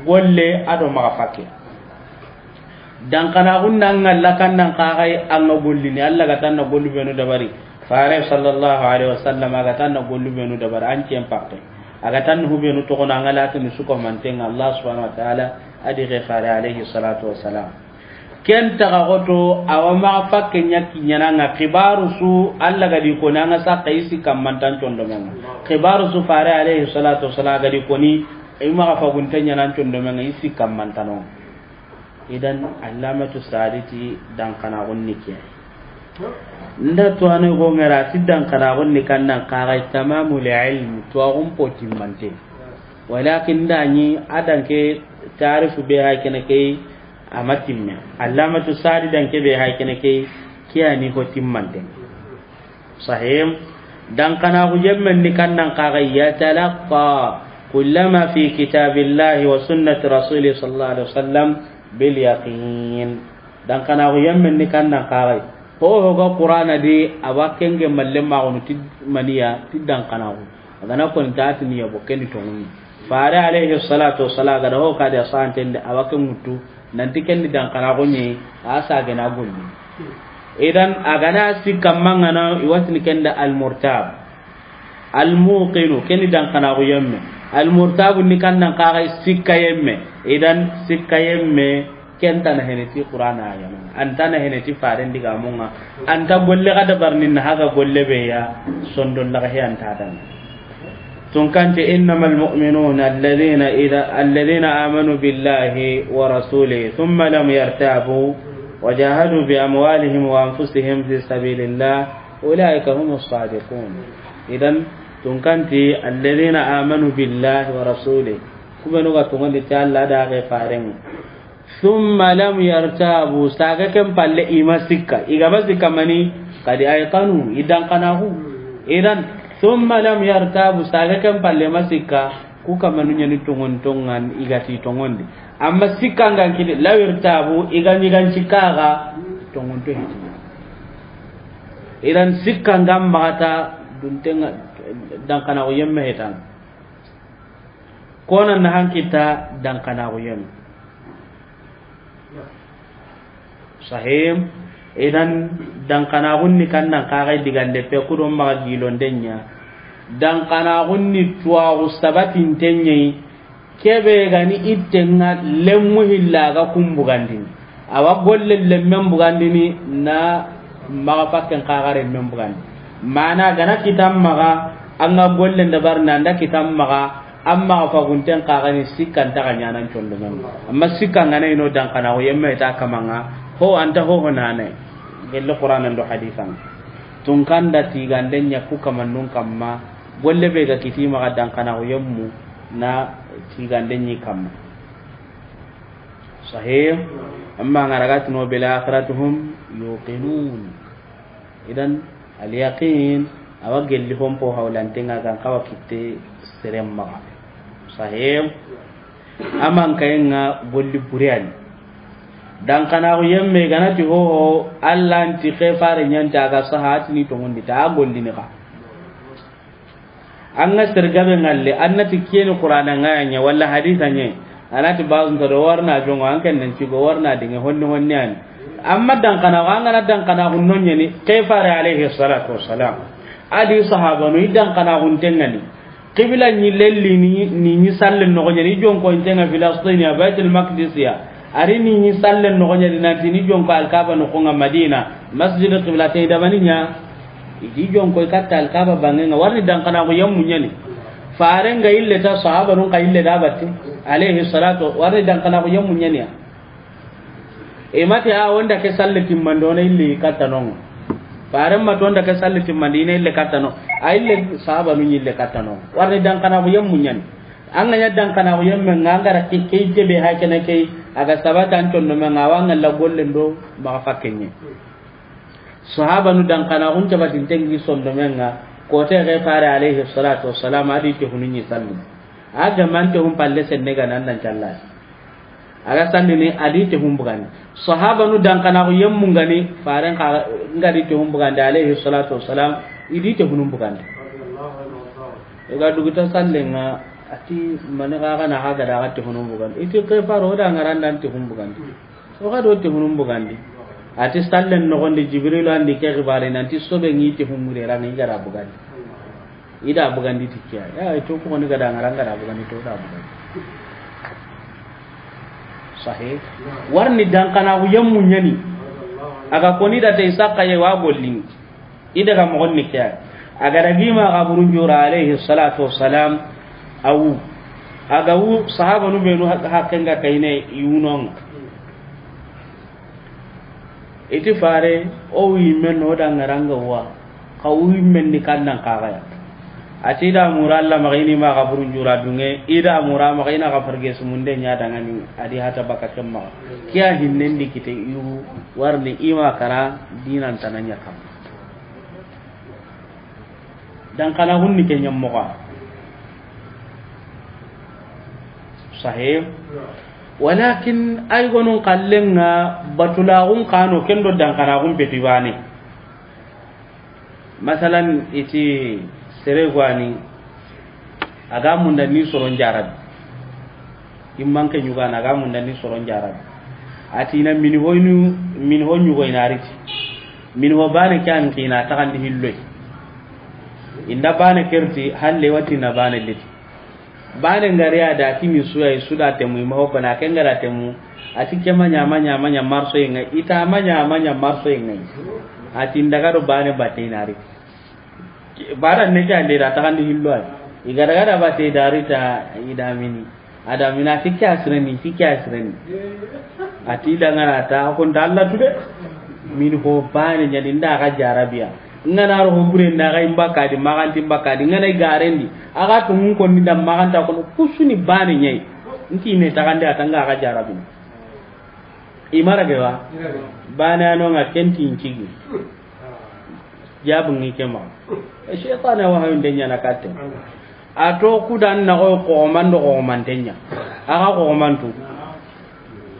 golle ado maxa fakke. Dankanaxun na ŋalla kannan kaxay an ga gollini, Allah ga tanna gollu benu dabari. Fare sallallahu alaihi wasallam a ga tanna gollu benu dabari, an cen pakke. A ga tanna hu benu toxono an ga latini suko manten ŋa Allah subhanahu wa ta'ala, a di xe fare alaihi salatu wassalam. Ken taxa xoto, awa maxa fakke ɲa kiɲana ŋa xibaru su, Allah ga di koni, an ga saxa i si kammantan condomen ŋa. Xibaru su fare alaihi salatu wassalam ga di koni, i maxa fagunte ɲanan condomen ŋa, i si kammantano. Idan, Allamatu Sadi ti dankanaxun ni ke. Nda tuwano go ŋera ti dankanaxun ni kannan kaxay tamamul ilm, tuwaxun po timmante. Walakin nda ɲi a danke tarifu be hay kene ke, a ma timme. Allamatu Sadi danke be hay kene ke, ke a ni ho timmante. Sahih. Dankanaxu yemmen ni kannan kaxay, yatalaqqa kullama fi kitabillahi wa sunnati rasuli sallallahu alaihi wasallam bil yaqin. Dankanaxu yemmen ni kannan kaxay. Ho ho ga Qur'ana di, a wa kenge malle maxunu ti maniya, ti dankanaxu. A ga na koni ta ti niya bo ken ni tonŋu ni. Fare alaihi salatu wassalam ga da ho ka di a santen de, a wa ken ŋuttu, nanti ken ni dankanaxu ɲi, a sa ga na golli. Idan a ga na sikka mangana, i watini ken da al murtab. Al muqinu, ken ni dankanaxu yemme. Al murtabu ni kannan kaxay sikka yemme. Idan sikka yemme, ken ta na hene ti Qur'ana ayanu. An ta na hene ti faren digamun ŋa. An ta golle ga dabarni na haga golle be ya, sondon laga he an ta dan. Tunkanti, إنما المؤمنون الذين إذا، الذين آمنوا بالله ورسوله ثم لم يرتابوا وجاهدوا بأموالهم وأنفسهم في سبيل الله أولئك هم الصادقون. Idan, tunkanti, الذين آمنوا بالله ورسوله. Ku benu ga tungondi ti Allah da ga faren. Thumma lam yartabu, saga ken palle i ma sikka. I ga ma sikka mani, qad ayqanu, i dankanaxu. Idan, thumma lam yartabu, saga ken palle ma sikka, ku kamanu ɲani tonŋon tonŋan, i ga ti tonŋondi. Amma sikka ngan kidi, law irtabu, i ga ɲi gan sikka ga, tonŋon to hiti. Idan sikka ngan maxata, duntenŋa dankanaxu yemme hetan. Kona na hankita dankanaxu yemme. Sahim, idan dankanaxun ni kannan kaxay digande pe kudon maxa gilonde ɲa. Dankanaxun ni tuwaxu sabatinten ɲeyi, Kebe gani ittenga lemmu hilla ga kumbugandini. Awa golle lemmen bugandini na maxa fakken kaxare men bugandi. Mana gana kitan maxa, anga golle ndabar na nda kitan maxa, amma ga fagunten kaxani sikkan taxa ñanan condo men. Amma sikkan gana ino dankana ko yemme ta kamanga, ho anta ho ho nane. Gelle Qur'anan do hadisan. Tunkanda tiganden ña ku kamannun kamma, golle be ga kiti maxa dankana ko yemmu na tiganden ñi kamma. Sahih. Amma ngaragatino bil akhirati hum yuqinun. Idan al yaqin awa gelli hompo hawlantenga gan kawa kitte serem maxa. Sahih. Aman kayenga golli buriyani. Dankana ko yemme ganati hoho, Allah nti xefare ñanta ga sahatini tongondi ta gollini xa. An ga sergabe ngalle, an nati kiyeni Qur'ana ngaya ña, walla hadisa ña, a nati bazun ta do warna jongo, an ken nan cigo warna dinge honni honni ani. Amma dankana, an gana dankana hunno ñani, ke fare alayhi salatu wassalam. Adi sahabanu, i dankana huntengani. Qibla ñi lelli ni, ni, ni sallen noxo ñani, i jonko intenga Filastin ya, Baitul Maqdis ya. Ari ni ñi sallen noxo ñani, nanti ni jonko Alkaba noxonga Madina, Masjid Qiblatain damani ña. Idi jonko i katta Alkaba bangenga, warni dankana ko yammu ñani. Farenga ille ta, sahabanun ka ille da batti. Alayhi salatu, warni dankana ko yammu ñani ya. E mati a wonda ke salle timmandi, wona ille katta non. Faren mati wonda ke salle timmandi, ina ille katta non. A ille sahabanun ille katta non. Warni dankana ko yammu ñani. An ga ña dankana ko yemme nga, an gara ke, ke jebe ha kene ke, aga sabata an condo me nga, wa nga la golle ndo, maxa fakkenye. Sahabanu dankana kun tabatin tengi sondomenga, kote ke fare alayhi salatu wassalam, adi te hunu ñi sallu. A ga mante hun palle senne ga nan dan calla. Aga sallini, adi te hun bugandi. Sahabanu dankana ku yemmungani, faren ka ngadi te hun bugandi alayhi salatu wassalam, idi te hun bugandi. Iga duguta sallenga, ati mani ga ga na haga daga te hun bugandi. Iti ke faro da ngarandan te hun bugandi. O ga do te hunun bugandi. Ati sallen noxondi Jibril andi ke xibare nanti sobe ngi te hun mure ranga i gara bugandi. Ida bugandi tikkiya. Ya to ko ni gada ngaranga da bugandi to da bugandi. Sahih. Warni dankana ku yemmu ñani. Aga koni da te isaka ye wa gollini. I daga moxon ni ke ya. A ga dagi ma xaburun jura alayhi salatu wassalam, a wu. A ga wu, sahabanu benu hak-, hakkenga kayne yunonga. Iti fare, o wi men no da ngaranga wa. Ka wi men ni kannan kaga ya. Ati da mura Allah maxa ini ma xaburun jura dunge, i da mura maxa ina xa farge sumunde ña dangani, adi hata baka kemma. Kiya hinnen di kite yu, warni ima kara dinan tananya kam. Dankana hunni ke ñammoxa. Sahih. Walakin ay gonun kallenga batulaxun kano kendo dankana hun peti bane. Masalan, iti sere gwani, aga munda ni soron jarabi. Imman ke ñugana, aga munda ni soron jarabi. Ati na mini hoynu, mini ho ñugo ina riti. Mini ho bane ke an kina taxandi hilloy. Inda bane kerti, halle wati na bane liti. Bane ngari a da kini suya, i suda temu, i ma ho kona, ke ngara temu. Ati ke ma ña, ma ña, ma ña marso inga, ita ma ña, ma ña marso inga. Ati ndaga do bane bate inari. Bara ne ke ande da taxandi hillo ay. I ga daga da bate dari ta i da mini. A da mina ti ke asireni, ti ke asireni. Ati da ngana ta ko nda Allah tude. Min ho bane ñani nda ga jarabiya. Ngana ro ho bure nda ga imbakadi, maganti imbakadi, ngana i garendi. Aga to mun ko ni da maganta ko kusuni bane ñay. Nti ne taxandi atanga ga jarabi. I mara ge wa? Bane ano nga kenti incigi. Jabu ngi kema. Shaytan wa hayu ndenya na katte. A to kudan na ko ko mando ko mantenya. Aga ko mantu.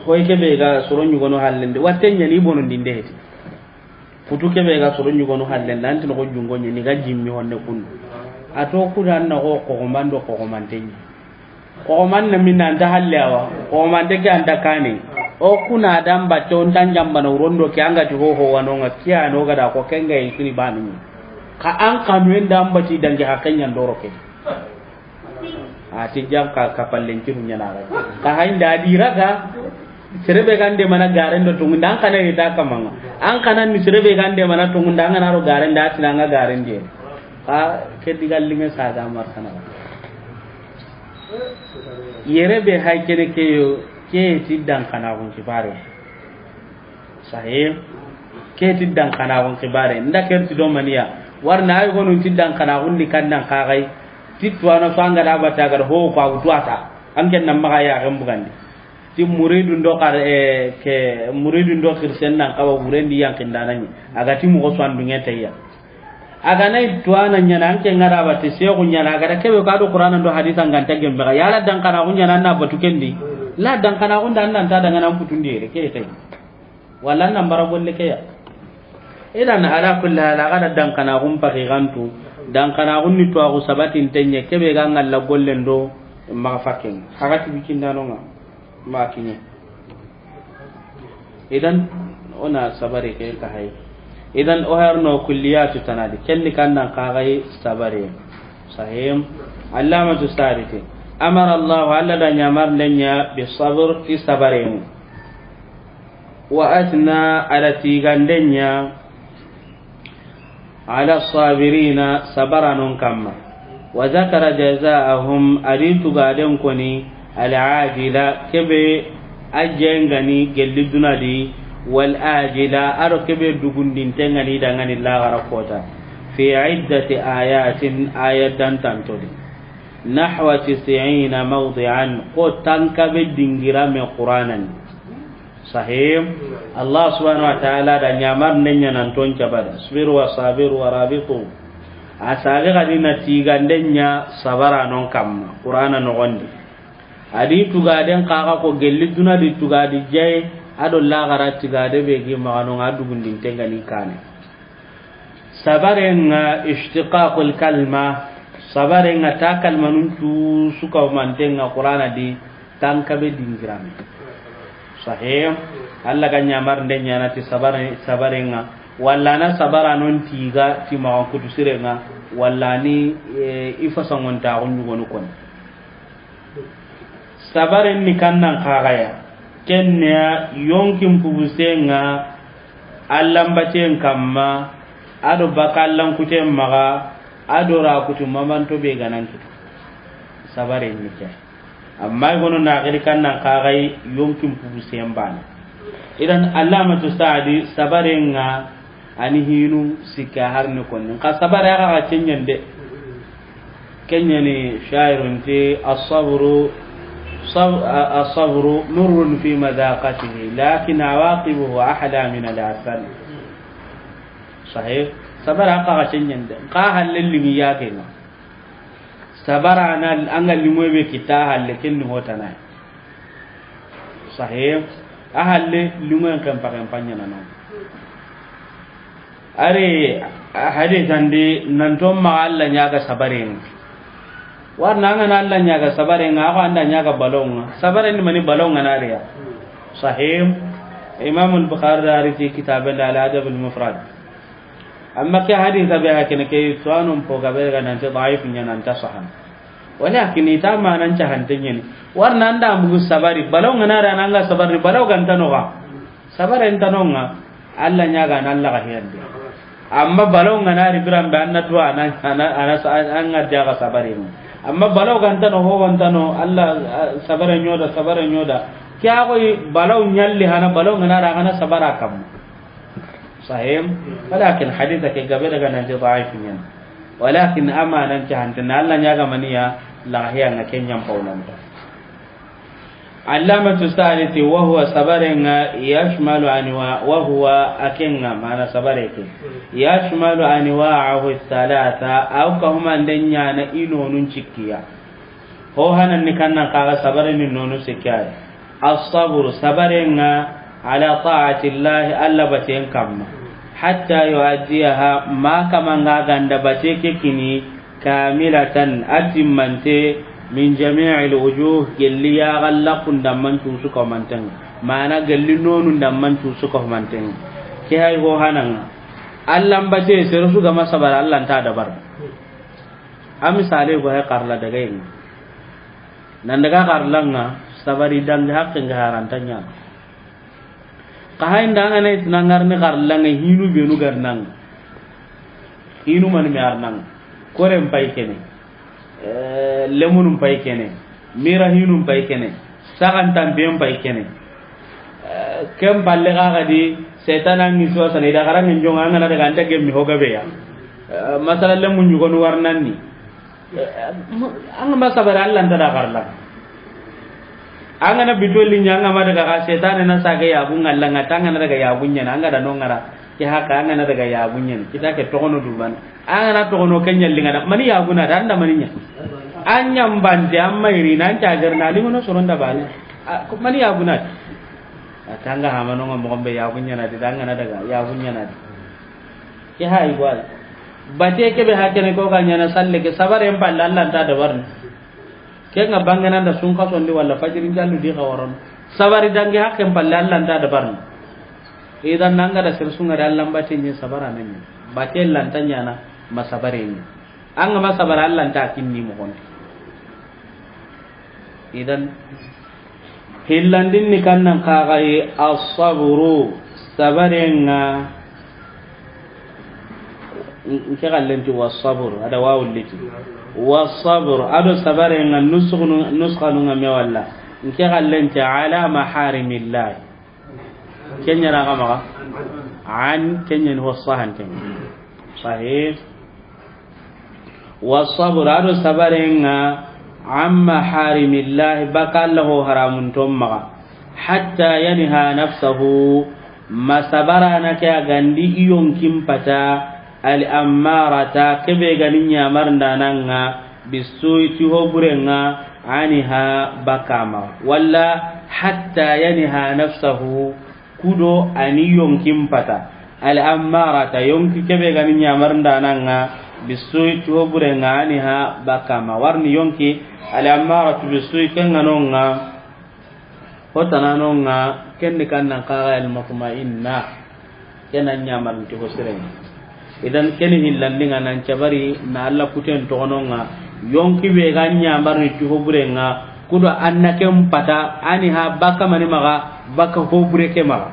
Hoy kebe ga soro ñugono hallende. Watenya ni bono ndinde heti. Futu kebe ga soro ñugono hallende. Anti no ko jungo ñi ni ga jimmi honne kun. A to kudan na ko ko mando ko mantenya. Koxoman na minna anta halle awa. Koxomante ke anta kane. O kuna dan batte on tan jambana urondo ke anga ti hoho wanonga kiya no gada ko kenga yi suni bani. Ka an kanu en dan bati dangi hakken ñan doro ke. A ti jan ka kapallen ci hu ɲana ga. Ka haynda di raga. Sere be ga nde mana garen do tungunda, an kana yita kamanga. An kana ni sere be ga nde mana tungunda, an kana ro garen da, a ti na nga garen de. Ka ke diga linge sa ga mar kana. Yere be hay kene ke yo, ke ti dan kana gun kibare. Sahih. Ke ti dan kana gun kibare. Nda ker ti do maniya. Warna ay gonu ti dan kana gun di kan dan ka gai. Ti tuwana so an ga da bata ga ho ko a wutu ata. An ken nan maga ya ga mbugandi. Ti muridun do kar, eh, ke muridun do kirsen nan kawa wurendi yankindanani. A ga ti moxo so an dunge tayya. A ga nay tuwana ɲana, an ke ngara bati seexu ɲana, a ga da kebe ka do Qur'ana do hadisa nganta gembe ga. Yala dan kana gun ɲana na batu kendi. La dan kana gun dan nan ta daga nan putundi yere ke tay. Wala nan bara golle ke ya. Idan ala kulli hal, a ga da dan kana gun paki gantu. Dan kana gun ni tuwaxu sabatin tenye kebe ga ngalla gollen do maxa fakken. Hagati bikindanonga. Ma kiɲe. Idan, o na sabari ke ka hay. Idan, o harno kulliyatu tanadi. Kenni kannan ka gai sabari. Sahim. Allamatu Sariti. Amara Allah, Allah da ɲamar ndenya bi sabr, ti sabari. Wa asna, ala tigandenya. Ala sabirina, sabaranon kamma. Wa zakara jazaahum, a di tugaden koni, al ajila, kebe a jengani gelli dunadi, wal ajila, aro kebe dugundinte ngani dangani lagara kota. Fi iddati ayatin, aya dantantodi. Nahwa tis'ina mawdi'an, ko tankabe dingira me Qur'anan. Sahim. Allah subhanahu wa ta'ala da ɲamar ndenya nan ton cabada. Isbiru wa sabiru wa rabitu. A sage gadi na tigandenya sabaranon kamma. Qur'ana nogondi. A di tugaden kaga ko gelli dunadi tugadi jay, ado lagara tigade be gi maganon a dugundinte ngani kane. Sabarenga ishtiqaqul kalma, sabarenga ta kalmanun cu suka mantenga Qur'ana di tankabe dingirame. Sahih. Allah ga ɲamar nde ɲana ti sabare, sabarenga, walla na sabara non tiga ti magan kutu sirenga, walla ni, eh, ifasangon ta gunjugonu kon. Sabaren ni kannan kagaya. Kenneya yonkin pubusenga allambaten kamma, ado baka allankuten maga, ado rakutu mamanto be ganan kita. Sabaren ni ke. Amma igono na giri kannan kagai yonkin pubusen bana. Idan Allamatu Saadi sabarenga ani hinu sikka harni konni. Nka sabare aga ga kenyen de. Kenyani shairun ti, "As-sabru, sab-, a-, as-sabru murrun fi madaqatihi, lakin awaqibuhu ahla min al-asal." Sahih. Sabara aga ga kenyen de. Nka halle lingi ya kenga. Sabara na anga limoy be kita halle kenni hotana. Sahih. A halle lungoyen kempa kempa ɲana no. Ari, a hadisandi nanto ma Allah ɲaga sabaren. Warna anga na Allah ɲaga sabaren, a ko anda ɲaga balonga. Sabaren ni mani balonga na riya. Sahih. Imam al-Bukhari da ari ti kitabe da al-Adab al-Mufrad. Amma ke hadisa be hakene ke tuwanon po gabe ga nanti daif ɲana nta sahan. Walakin ita manan cahante ɲeni. Warna anda mugu sabari, balaw ngana ra nanga sabari, balaw ganta no ga. Sabari enta no nga, Allah ɲaga na Allah ga hiyande. Amma balaw ngana ri birambe anna duwa ana, ana, ana, anga jaga sabari no. Amma balaw ganta no, ho ganta no, Allah, ah, sabari ɲoda, sabari ɲoda. Kya koy balaw ɲalli hana, balaw ngana ra hana sabara kam. Sahih. Walakin hadisa ke gabe daga nanti daif ɲana. Walakin amanan cahante na Allah ɲaga maniya lahiya nga kenyan paulanta. Allamatu Sa'di ti, "Wa huwa sabarenga yashmalu anwa, wa huwa akenga mana sabare ke. Yashmalu anwa'ahu thalatha, aw ka humande ɲana inonun cikkiya." Ho hanan ni kannan kaga sabare ni nonu sikki ay. As-sabru, sabarenga, ala ta'atillahi, Allah baten kamma. Hatta yu'addiyaha, ma kamanga ganda bate ke kini, kamilatan, atimmante, min jami'il wujuh, gelli ya galla kundamman cusu kamanten. Mana gelli nonu ndamman cusu kamanten. Ke hay ho hananga. Allah mbate serusu gama sabara Allah nta dabar. A misale go hay karla daga yin. Nan daga xarlanga, sabari dangi haqqe nga haranta ɲa. Xa haynda an ga na i ti na ŋarini xarlanga, hinu benu ga ri na ŋa. Hinu mani me a ri na ŋa. Koren pay kene. Eh, lemunun pay kene. Mira hinun pay kene. Saxantanpen pay kene. Eh, ken palle xa ga di, setana ngi so sane, i da xaranŋe jonŋa, an ga na daga an ta gemmi ho gabe ya. Eh, masala lemun ɲugonu warnanni. An ga ma sabari, Alla nta da xarla. An ga na bitolli ɲa, an ga ma daga xa, setane na sage yagu ŋalla ŋa, ta an ga na daga yagu ɲana, an ga da no ŋara, ke haka an ga na daga yagu ɲana, kita ke toxono duban. An ga na toxono ke ɲalli ŋa da, mani yagu na da, an da mani ɲa. An ɲambante, an mayri, nan cagarna, limono soron da bane. A, ko mani yagu na da. A tanga hamano ŋa moxon be yagu ɲana di, da an ga na daga yagu ɲana di. Ke hay gwal. Bate ke be hakene ko ga ɲana salle ke, sabare en palle Alla nta dabarni. Ke nga bangana nda sunka sondi wala fajirin jallu di xawaron. Sabari dangi haqqen palle Alla nta dabarni. Idan nanga da sir sunga da Alla mbate ɲi sabara na ɲi. Bate lanta ɲana ma sabare ɲi. An ga ma sabara Alla nta kinni moxon di. Idan, hillandin ni kannan kaxayi, asaburu, sabarenga, nke xallenti wasabur, a da wawulliti. Wasabur, a do sabarenga, nusxanu-, nusxanunga me walla. Nke xallenti ala maharimillahi. Kenya na ga maxa. An, kenya ni ho sahanten. Sahih. Wasabr, a do sabarenga, an maharimillahi, baka Alla ho haramun ton maxa. Hatta yanha nafsahu, ma sabarana ke a gandi i yonkin pata, al ammarata, kebe gani ɲamarndananga, bisuyi ti ho burenga, anha, baka maxa. Walla hatta yanha nafsahu, kudo ani yonkin pata. Al ammarata, yonki kebe gani ɲamarndananga, bisuyi ti ho burenga, anha, baka maxa. Warni yonki, al ammaratu bisuyi, kenga nonga, hotananonga, kendi kannan kaxa al mutmainna. Kena ɲamarni ti ho sirenga. Idan keni hillandinga nan cabari na Alla kuten toxononga, yonki be ga ɲamarni ti ho burenga, kudo anna ken pata, anha, baka mani maxa, baka ho bure ke maxa.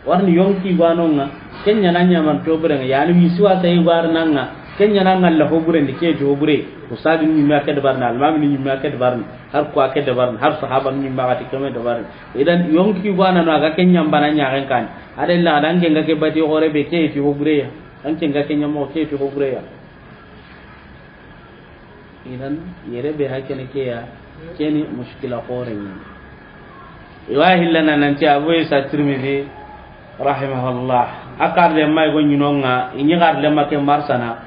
Warni yonki gwanonga, kenya na ɲamarni ti ho burenga, yani wisi wasa i gwarnanga, kenya na ngalla ho burendi ke ti ho bure, usadi ni ɲimme a ke dabarni, almami ni ɲimme a ke dabarni, har ko a ke dabarni, har sahaba ni ɲimme a ga ti keme dabarni. Idan yonki gwanano a ga kenya mbana ɲaxen kan. A da illa a da an ke nga ke bati xore be ke ti ho bureya. An ke nga ke ɲamo ke ti ho bureya. Idan yere be hakene ke ya, keni mushkila xore ni. Iwa hillana nanti Abu Isa Tirmidhi rahimahullah. A karle may go ɲinonga, i ɲi karle ma ke marsana,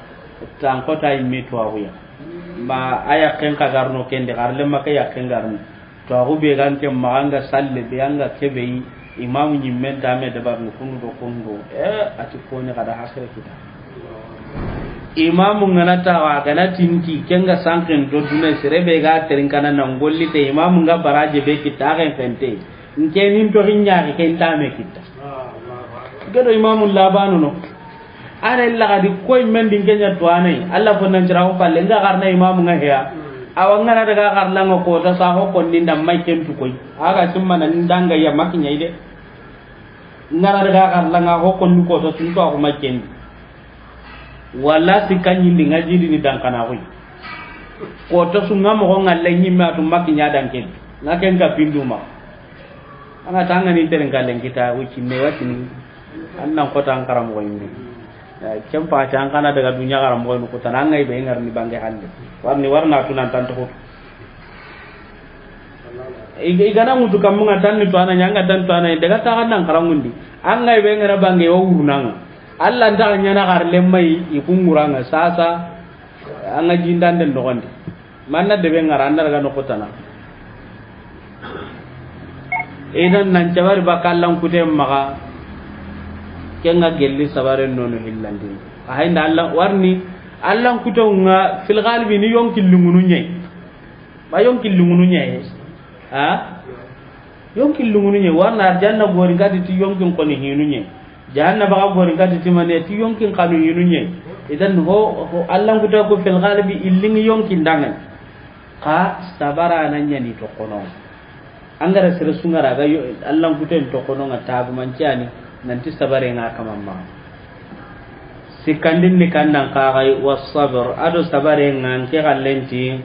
tan kota immi to aguya. Ma aya ken ka garno kendi, karle ma ke ya ken garno. To, axu be ga nke maxa, anga salle be, anga kebe yi, imamu ɲimmen ta me dabarni kundu do kundu. Eh, a ti koni xa da hakere kita. Imamu ngana tawa, gana tinti, kenga sanken do duna, sere be ga terin kana na ngolli te, imamu nga baraje be kita, axen fente. Nke nin to hinya ke nta me kita. Gedo imamu labanu no. Are laga di koy men din kenya to anai. Alla fo nan jira ko palle nga garna imamu nga heya. Awa ngana daga garla nga ko ta sa ho kon ninda mai ken tu koy. Aga simma nan danga ya makinya ide. Ngana daga garla nga ho kon ko to tun to ko mai ken. Wala si kan yindi nga jidi ni dan kana koy. Ko to su nga mo ngalle nyimme atu makinya dan ken. Nga ken ka pinduma. Anga tanga ni teren kallen kita wuci me watini. Annan kota an karamo yimbe. Eh, ken pati an kana daga dunya karamo no kota nan ngai be ngar ni bange hande. Warni warna tunan tan to. Iga, igana mutu kamunga tan ni to ana nyanga tan to ana daga ta kan nan karamundi. An ngai be ngara bange o wurnanga. Alla nta nyana gar lemmai ikunguranga sasa. Anga jindande nogondi. Manna debe ngara, an na daga noxo tana. Idan nan cabari baka Allan kute maxa, kenga gelli sabare nono hillandi. A hayinda Allan warni, Allan kute nga fil galibi ni yonki lungunu ɲe. Ba yonki lungunu ɲe. Ha? Yonki lungunu ɲe, warna arjanna gori gadi ti yonkin koni hinu ɲe. Jahannaba ga gori gadi ti mane ti yonkin kanu hinu ɲe. Idan ho, ho Allan kuta ko fil galibi illingi yonkin dangan. Xa sabara na ɲani toxono. An ga ra sere su ŋa ra ga yo, Allan kuten toxono ŋa tagumancani, nanti sabare ŋa kamamma. Sikkandin ni kannan kaxay, wa sabr, ado sabare ŋa, nke xallenti,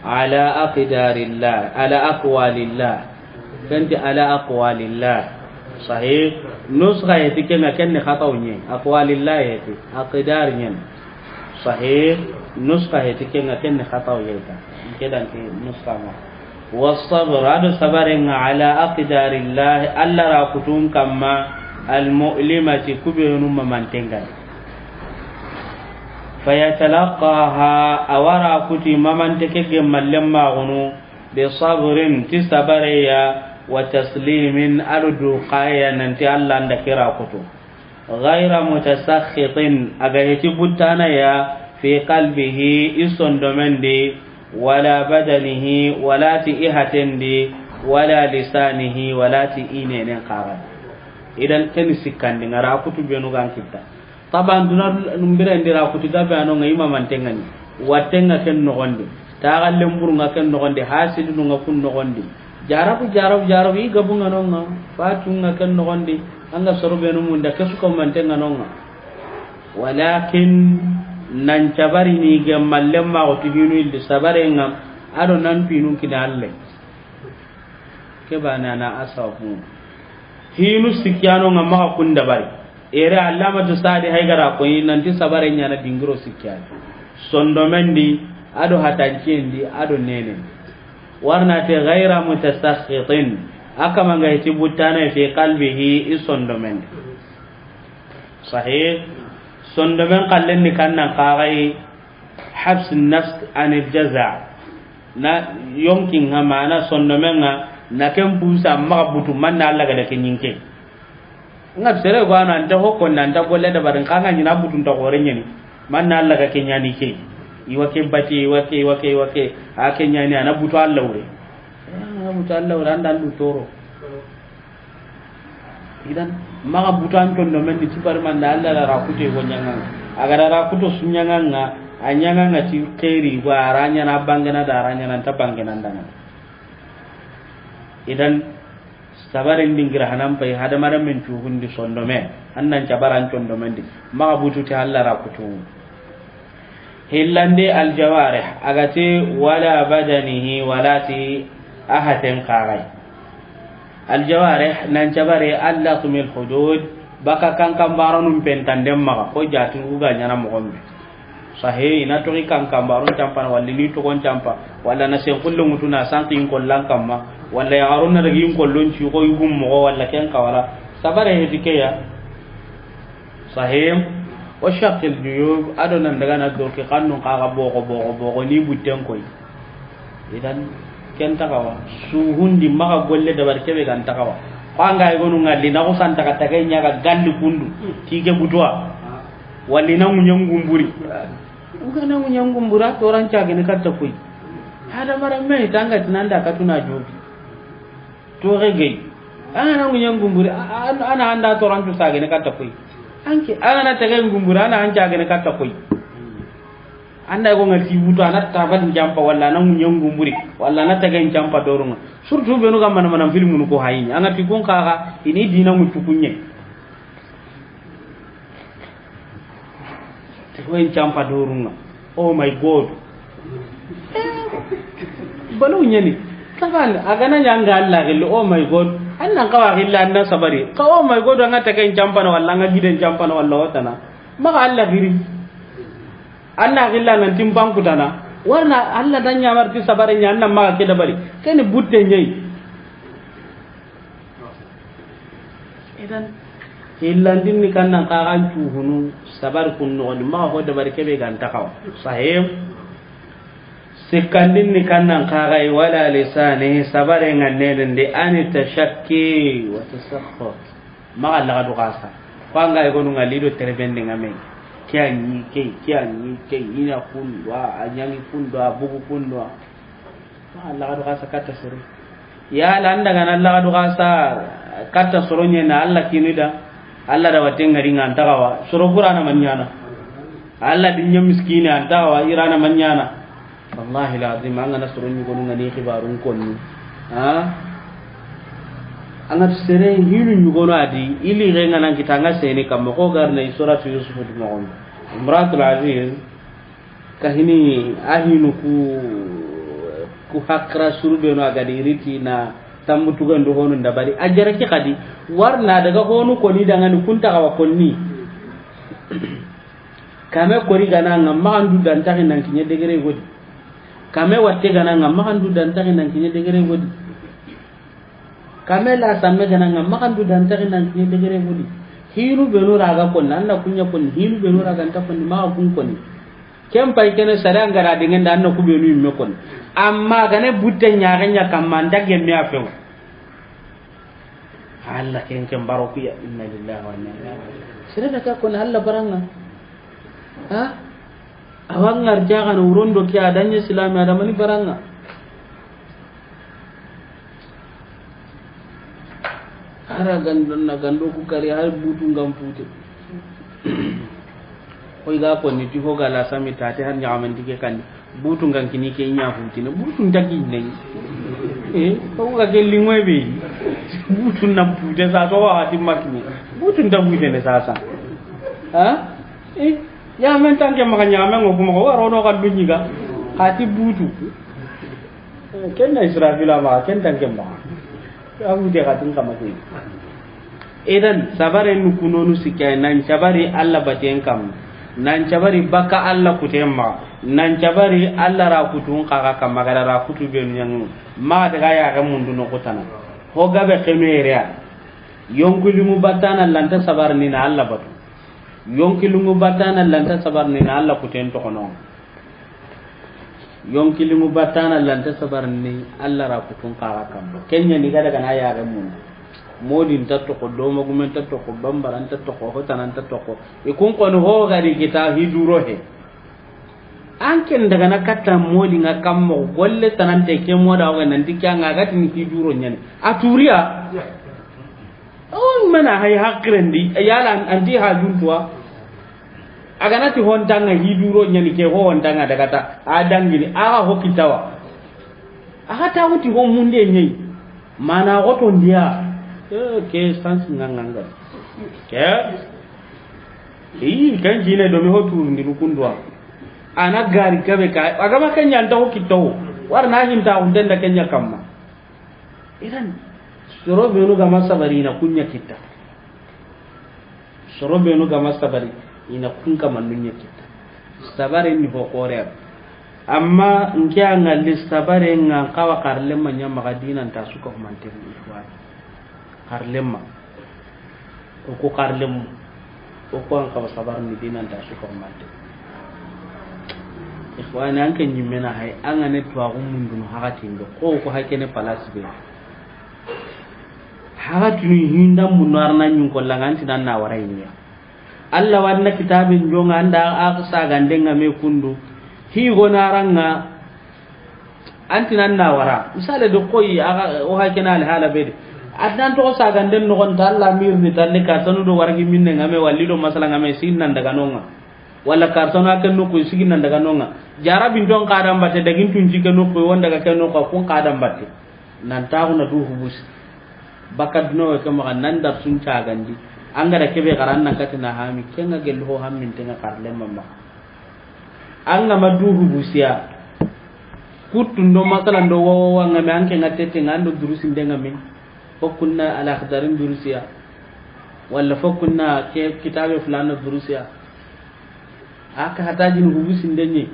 ala aqdarillah, ala aqwalillah. Kenti ala aqwalillah. Sahih. Nuskha heti kenga kenni khataw nye. Aqwalillah heti. Aqdar nyen. Sahih. Nuskha heti kenga kenni khataw yeta. Kedan ke nuskha ma. Wasabr, ado sabarenga, ala aqdarillah, Allah ra kutun kamma, almu'limati, kubenu mamantenga. Fayatalaqaha, awara kuti mamante ke gemmallen magunu, bisabrin, ti sabareya, wa taslimin, ado duqaya, nanti Allah nda kira kutu. Ghayra mutasakhitin, aga heti buttana ya, fi qalbihi, i sondomen di, wala badanihi, wala ti i haten di, wala lisanihi, wala ti i nenen kaga. Idan keni sikkandi ngara kutu benu gan kitta. Taban duna numbira ndira kutu gabe ano nga imamantengani. Wattenga ken nogondi. Taxallen burunga ken nogondi, hasidununga kun nogondi. Jarabu, jarabu, jarabu, i gabunga nonga, fatunga ken nogondi, anga soro benu munda, kesu ko mantenga nonga. Walakin nan cabarini gemmallen maxo ti hinu illi sabarenga, ado nan pinu kina Alle. Ke bana na asabu. Hinu sikkiyanonga maxa kun dabari. Ere Allamatu Sadi Haygara koyi nanti sabare ɲana dingiro sikkiyani. Sondomen di, ado hatanciyen di, ado nenen di. Warna te ghayra mutasakhitin. Akamanga heti buttana fi qalbihi, i sondomen di. Sahih. Sondomen kallen ni kannan kagai habs nafs anil jaza. Na yonkin ha mana sondomen nga na ken busa maxa butu manna Allah ga da ken yinke. Nga sere go ana anta hokko na anta golle da barin kanga nyina butun ta gore nyani. Manna Allah ga ken nyani ke. Iwa ke bati, iwa ke, iwa ke, iwa ke. A ken nyani ana butu Allah wure. Ana butu Allah wure anda ndu toro. Idan maxa butu an condomen di ti bari manda Allah da ra kuto go nyanganga. Aga da ra kuto su nyanganga, a nyanganga ti khairi go a ra nyana bangena da a ra nyana nta bangena ndanga. Idan sabaren dingira hanan pay hadamaren men cuhundi sondome. Annan cabaran condomen di. Maxa butu ti Allah ra kuto. Hillandi aljawarih, agati wala badanihi, wala ti ahaten kagai. Aljawarih, nan cabare allatmil hudud, baka kankan baranun pentanden maxa, ko jatin uga nyana mogombe. Sahe, ina toxi kankan barun campana, walla ni togon campa, walla na sen kullu mutuna sanki in kollan kamma, walla ya aruna dagi in kollon ci ko yugum mogo, walla ken kawara. Sabare heti keya. Sahim, wa shaqqil juyub, ado nan daga na doke kannun kaga bogo, bogo, bogo, ni butten koy. Idan, ken takawa, suhundi maxa golle dabar kebe gan takawa. Ko anga e gonu ngalli, na ko san taka taka nya ga galli kundu, ti ke butuwa. Walli na munyan gumburi. Uga na munyan gumbura, toran cagene katta koy. Hada mara me tanga tinanda katuna jobi. Toxe gey. An ga na ŋuɲen gumburi, a-, a-, an na anda torantu sagene katta koy. Anke, an ga na tegen gumburi, an na an cagene katta koy. Anda go ŋa ti butu, an na tabal njampa, walla an na ŋuɲen gumburi, walla an na tegen njampa dorunga. Surtout benu ga mana mana filmunu ko hayini. An ga ti kun kaga, ini dina ŋutu kunɲe. Ti ko en campa dorunga. Oh my God. Balo nyani. Taban, a ga na ɲa an ga Allah gilli, oh my God. An nan kawa gilla an na sabari. Ka oh my God, an ga tegen campana walla an ga giden campana walla watana. Maxa Allah giri. An na gilla nan timpan kutana. Warna Allah dan ɲamar ti sabari ɲa an nan maxa ke dabari. Keni butte ɲai. Idan, hillandin ni kannan kagan cuhunu, sabar kun nogondi, maxa ho dabari kebe gan takawa. Sahim. Sikkandin ni kannan kagai wala lisani, sabare nga nenen de ani tashakki wa tasakhut. Maxa laga du kasa. Ko anga e gonu nga lido terebende nga me. Kiya ni ke, kiya ni ke, ina kundwa, a ɲangi kundwa, bugu kundwa. Maxa laga du kasa katta sere. Yala an daga na laga du kasa katta soro ɲe na Allah kini da. Allah da watte ngari nga an tagawa. Soro gurana man ɲana. Allah di ɲa miskini an tagawa, irana man ɲana. Wallahi lazim, an ga na soro ɲugonu ŋa ni xibaarun konni. Ha? An ga sere hinu ɲugono a di, ili ge ŋa nan kita ŋa sene kamma ko garna i suratu Yusuf di moxon. Imratul Aziz, ka hini a hinu ku, ku hakra suru beno a ga di riti na tambu tugando honu ndabari. A jara ki xadi, warna daga honu koni dangani kunta kawa konni. Kame kori gana ŋa maxandu dantaxi nan kiɲe degere godi. Kame watte gana ŋa maxandu dantaxi nan kiɲe degere godi. Kame la samme gana ŋa maxandu dantaxi nan kiɲe degere godi. Hinu benu raga konni, an na kuɲa konni, hinu benu raga nta konni, maxa kun konni. Ken pay kene sare an gara dingenda an na ku benu imme konni. Amma gane butte ɲaxe ɲa kamma an dagge me a few. Allah ken ken baro kuya, inna lillahi wa inna ilaihi raji'un. Sere daga koni Allah baranga. Ha? Awa ngar jaxana wurondo ke a daɲe silami adamani baranga. Hara gandon na gando ku kari har butu ngam pute. Koy ga konni ti ho ga la sami tati har ɲaxamandi ke kandi. Butu ngan kini ke ɲa futine. Butu nta ki ne. Eh, ko ga ke lingwe be. Butu na pute sa so wa ti makini. Butu nta pute ne sasa. Ha? Eh, ya men tanke maka ɲa men ko kuma ko waro no ka dunyi ga. Hati butu. Eh, ken na Israfila ma ken tanke ma. Abu de ga tin kama ke. Idan, sabare nu kunonu sikka, nan cabari Allah baten kam, nan cabari baka Allah kuten ma, nan cabari Allah ra kutun kaga kam, magara ra kutu benu ɲangu, ma daga ya ga mundu no kutana. Ho gabe kenu ereya. Yonkilingu batana lanta sabar ni na Allah batu. Yonkilingu batana lanta sabar ni na Allah kuten tokono. Yonkilingu batana lanta sabar ni Allah ra kutun kaga kamma. Kenya ni gada gana ya ga mun. Modi nta toko, doma gumen nta toko, bambara nta toko, hotana nta toko. Ikun kono ho gadi kita hiduro he. An ken daga na katta modi nga kammo golle tanante ke moda wa nan dikya nga gati ni hiduro nyani. A turiya. On mana hay hakirendi, yala anti ha juntuwa. A ga na ti hontanga hiduro ɲani ke ho hontanga daga ta, a dangini, a ga ho kitawa. A ga ta wuti ho munde ɲai. Mana ho to ndiya. Eh, ke sans nganganga. Ke. Ii, kan jine do mi ho turundi rukundwa. Ana gari gabe ka, a ga ma kenya nta ho kitawo. War na hinta hundenda kenya kamma. Idan, soro benu gama sabari na kunya kita. Soro benu gama sabari, ina kun kama nunya kita. Sabari ni ho kore. Amma nke a ŋalli sabari nga kawa karlema nya maga dina nta suka humante ni ikhwan. Karlema. O ko karlemu. O ko an kawa sabar ni dina nta suka humante. Ikhwani, an ke nyimmena hay, an ga ne tuwa gumundun hakati ndo. Ko ko hakene palas be. Haga tunu hinda munno arna ɲun kolla nga anti nan na wara yinya. Allah wanna kitabin jonga anda a sagande nga me kundu. Hi gona ranga anti nan na wara. Misale do koy aga o hakena al hala bede. Adnan to sagande no gon ta Allah mir ni talle ka tanu do wargi minne nga me walli do masala nga me sin nan daga nonga. Wala kartano ake no ko sigi nan daga nonga. Jarabin don kadam batte dagin tun jike no ko won daga ke no ko kun kadam batte. Nan taxu na du hubusi. Baka duno ke maxa nan dar sun cagandi. An ga da kebe xara an nan katina hami, ke nga gelli ho hammin te nga karle mamma. An ga ma du hubusiya. Kuttun do masalan do wawa wa nga me an ke nga tete nga ando durusin de nga me. Fokkunna al-Akhdarin durusiya. Wala fokkunna ke kitabe fulana durusiya. Aka hatajini hubusindenye.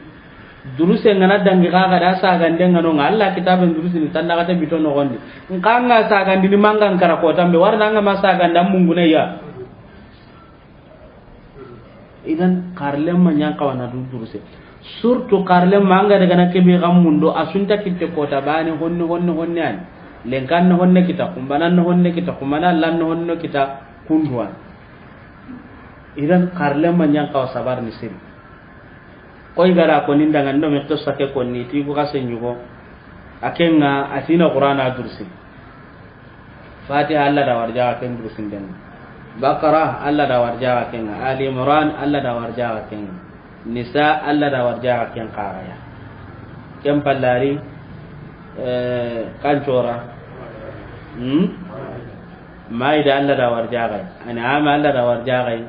Duruse ngana dangi kaga da sagande ngano nga Allah kitaben durusini tanda kata bito no gondi. Nka nga sagandini manga nkara ko tambe warna nga ma saganda mungune ya. Idan karlem ma nyan kawana du duruse. Surtout karlem ma nga daga na kebe gamundo asunta kitte kota bane honne honne honne an. Lenkan honne kita, kumbanan honne kita, kumana lan honne kita kunduan. Idan karlema nyan kawa sabar ni siri. Koy gara ko ninda ngando me to sake ko ni ti bu kase nyugo. Akenga atina Qur'ana dursi. Fatiha Allah da warja aken dursin den. Baqara Allah da warja aken. Ali Imran Allah da warja aken. Nisa Allah da warja aken qaraya. Ken pallari, eh, kancora. Hmm? Maida Allah da warjagai. An'am Allah da warjagai.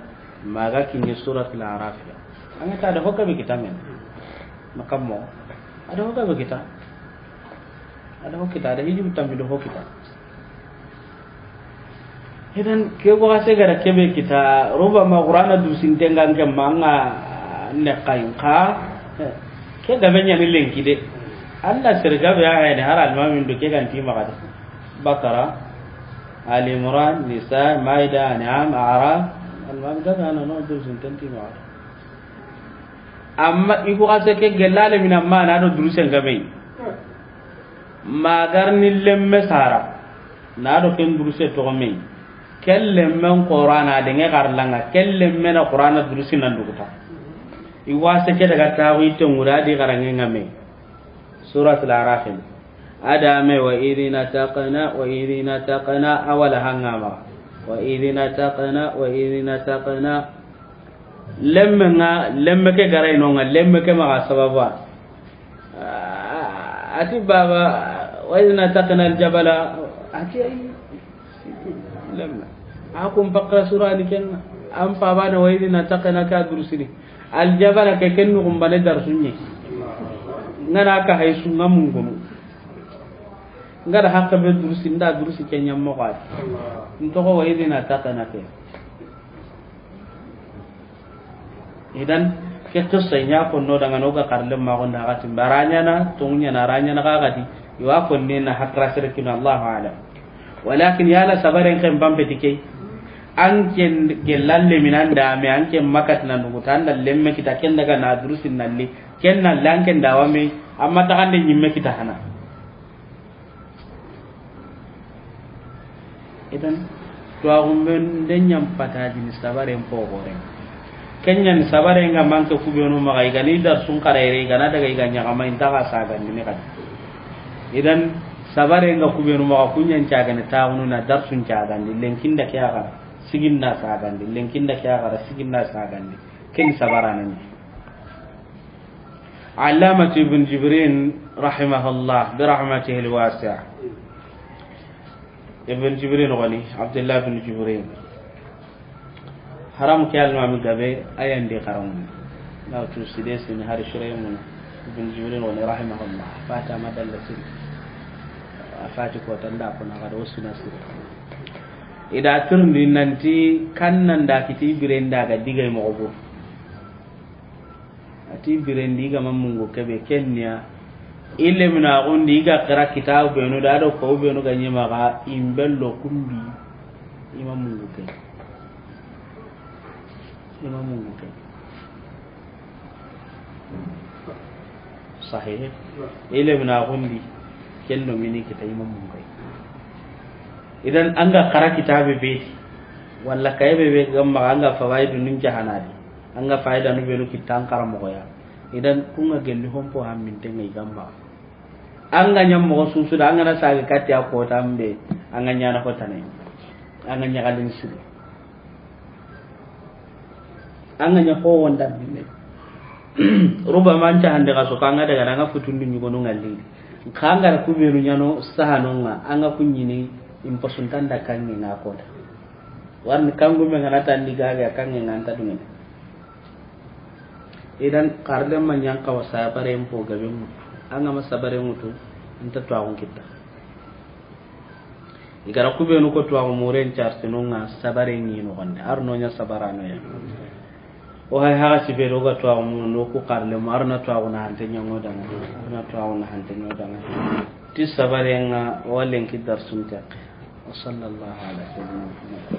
Maga kinye Suratul Araf ya. An ga ta da hokka be kita men. Makammo. A da hokka be kita. A da hokka kita, a da hiju tammi da hokka kita. Idan, ke go ga se gara kebe kita, roba ma Qur'ana du sintengan ke manga ne kain ka. Ke gabe ɲa ni lenki de. Allah sir gabe ya hayne har almamin do ke ganti magadi. Bakara, Ali Imran, Nisa, Maida, An'am, Araf. Almamin gabe ana no du sinten ti magadi. Amma i ko ase ke gellale mina ma na do durusen gabe. Magar ni lemme sara. Na do ken duruse to me. Ken lemmen Qur'ana de nge garlanga. Ken lemmen Qur'ana durusi nan duguta. I wase ke daga tawi to ngura di garange ngame. Suratul Araf. Adame wa idh nataqna, wa idh nataqna, awala hangama. Wa idh nataqna, wa idh nataqna. Lemme nga, lemme ke garay no nga, lemme ke maga sababa. Ah, ati baba, wa idh nataqna al-jabala, ati ay, lemme. A kun pakra surani kenga. Am pabana wa idh nataqna ka durusini. Al-jabala ke ken nugumbane darsunye. Ngana ka hay sunga mungunu. Ngada hakka be durusi, nda durusi kenya mo qad. Ntoko wa idh nataqna ke. Idan, ke qissa ɲa ko no daga no ga karle ma gonda gati baranya na, tunya na ranya na gati. Iwa ko ne na hakra sirkin, Allahu a'lam. Walakin yala sabaren kan bambe dike. An ken gelalle minan da me an ken makat na nugu tan da lemme kita ken daga na durusin nalli. Ken na lan ken dawa me amma ta kan de nyimme kita hana. Idan, tuwaxumben de ɲan patadini sabaren poxoren. Ken ɲani sabaren ga manke kubenu maxa, i gani dar sun xarayre, i gana daga i ga ɲaxama, i ntaxa sagandini xadi. Idan, sabaren ga kubenu maxa, ku ɲan cagani taxunu na dar sun cagandi, lenkinda ke axara, siginda sagandi, lenkinda ke axara, siginda sagandi. Ken sabarana ɲi. Allamatu Ibn Jibrin, rahimahullah, bi rahmatihi alwasi'a. Ibn Jibrin goni, Abdullah ibn Jibrin. Haram ke almami gabe, ayandi haram. Na tu side sini hari shuraymun. Ibn Jibrin goni, rahimahullah. Fata madalla sini. Fati ko tanda ko na gado suna sini. Ida turndi nanti kannan da kiti birenda ga digay mo go. Ati birendi i ga ma mungu kebe kenniya. Ille mina gundi i ga kira kitabu benu da do ko benu ga nyima ga imbello kumbi. I ma mungu ke. I ma mungu ke. Sahih. Ille mina gundi kendo mini kita i ma mungu ke. Idan an ga kara kitabe be walla kaybe be gamma an ga fawaidu nun jahanadi. An ga fayda nu benu kitta an karamoxoya. Idan kun ga gelli hompo hammintenga i gamma. An ga ɲa moxo susuda, an ga na sage katti a kota mbe, an ga ɲana hotane. An ga ɲaxalin siri. An ga ɲa ho wonda binne. Ruba man ca hande ga so kan ga daga na nga futundu ɲugonu ngalli. Kan ga kubenu ɲano sahanonga, an ga kunyini imposuntan da kangi na kota. Warni kangu me ngana tandi gaga kangi nganta dungene. Idan karle ma ɲan kawa sabare mpo gabe mutu. An ga ma sabare mutu, nta tuwaxun kitta. I gara kubenu ko tuwaxu muren cartinunga sabare ɲi no gonde. Arno ɲa sabarano ya. O hay haga sibe do ga tuwaxu munu no ku karle ma arna tuwaxu na hante ɲango danga. Arna tuwaxu na hante ɲango danga. Ti sabarenga walen ki darsun taqi. Wa sallallahu ala sayyidina Muhammad.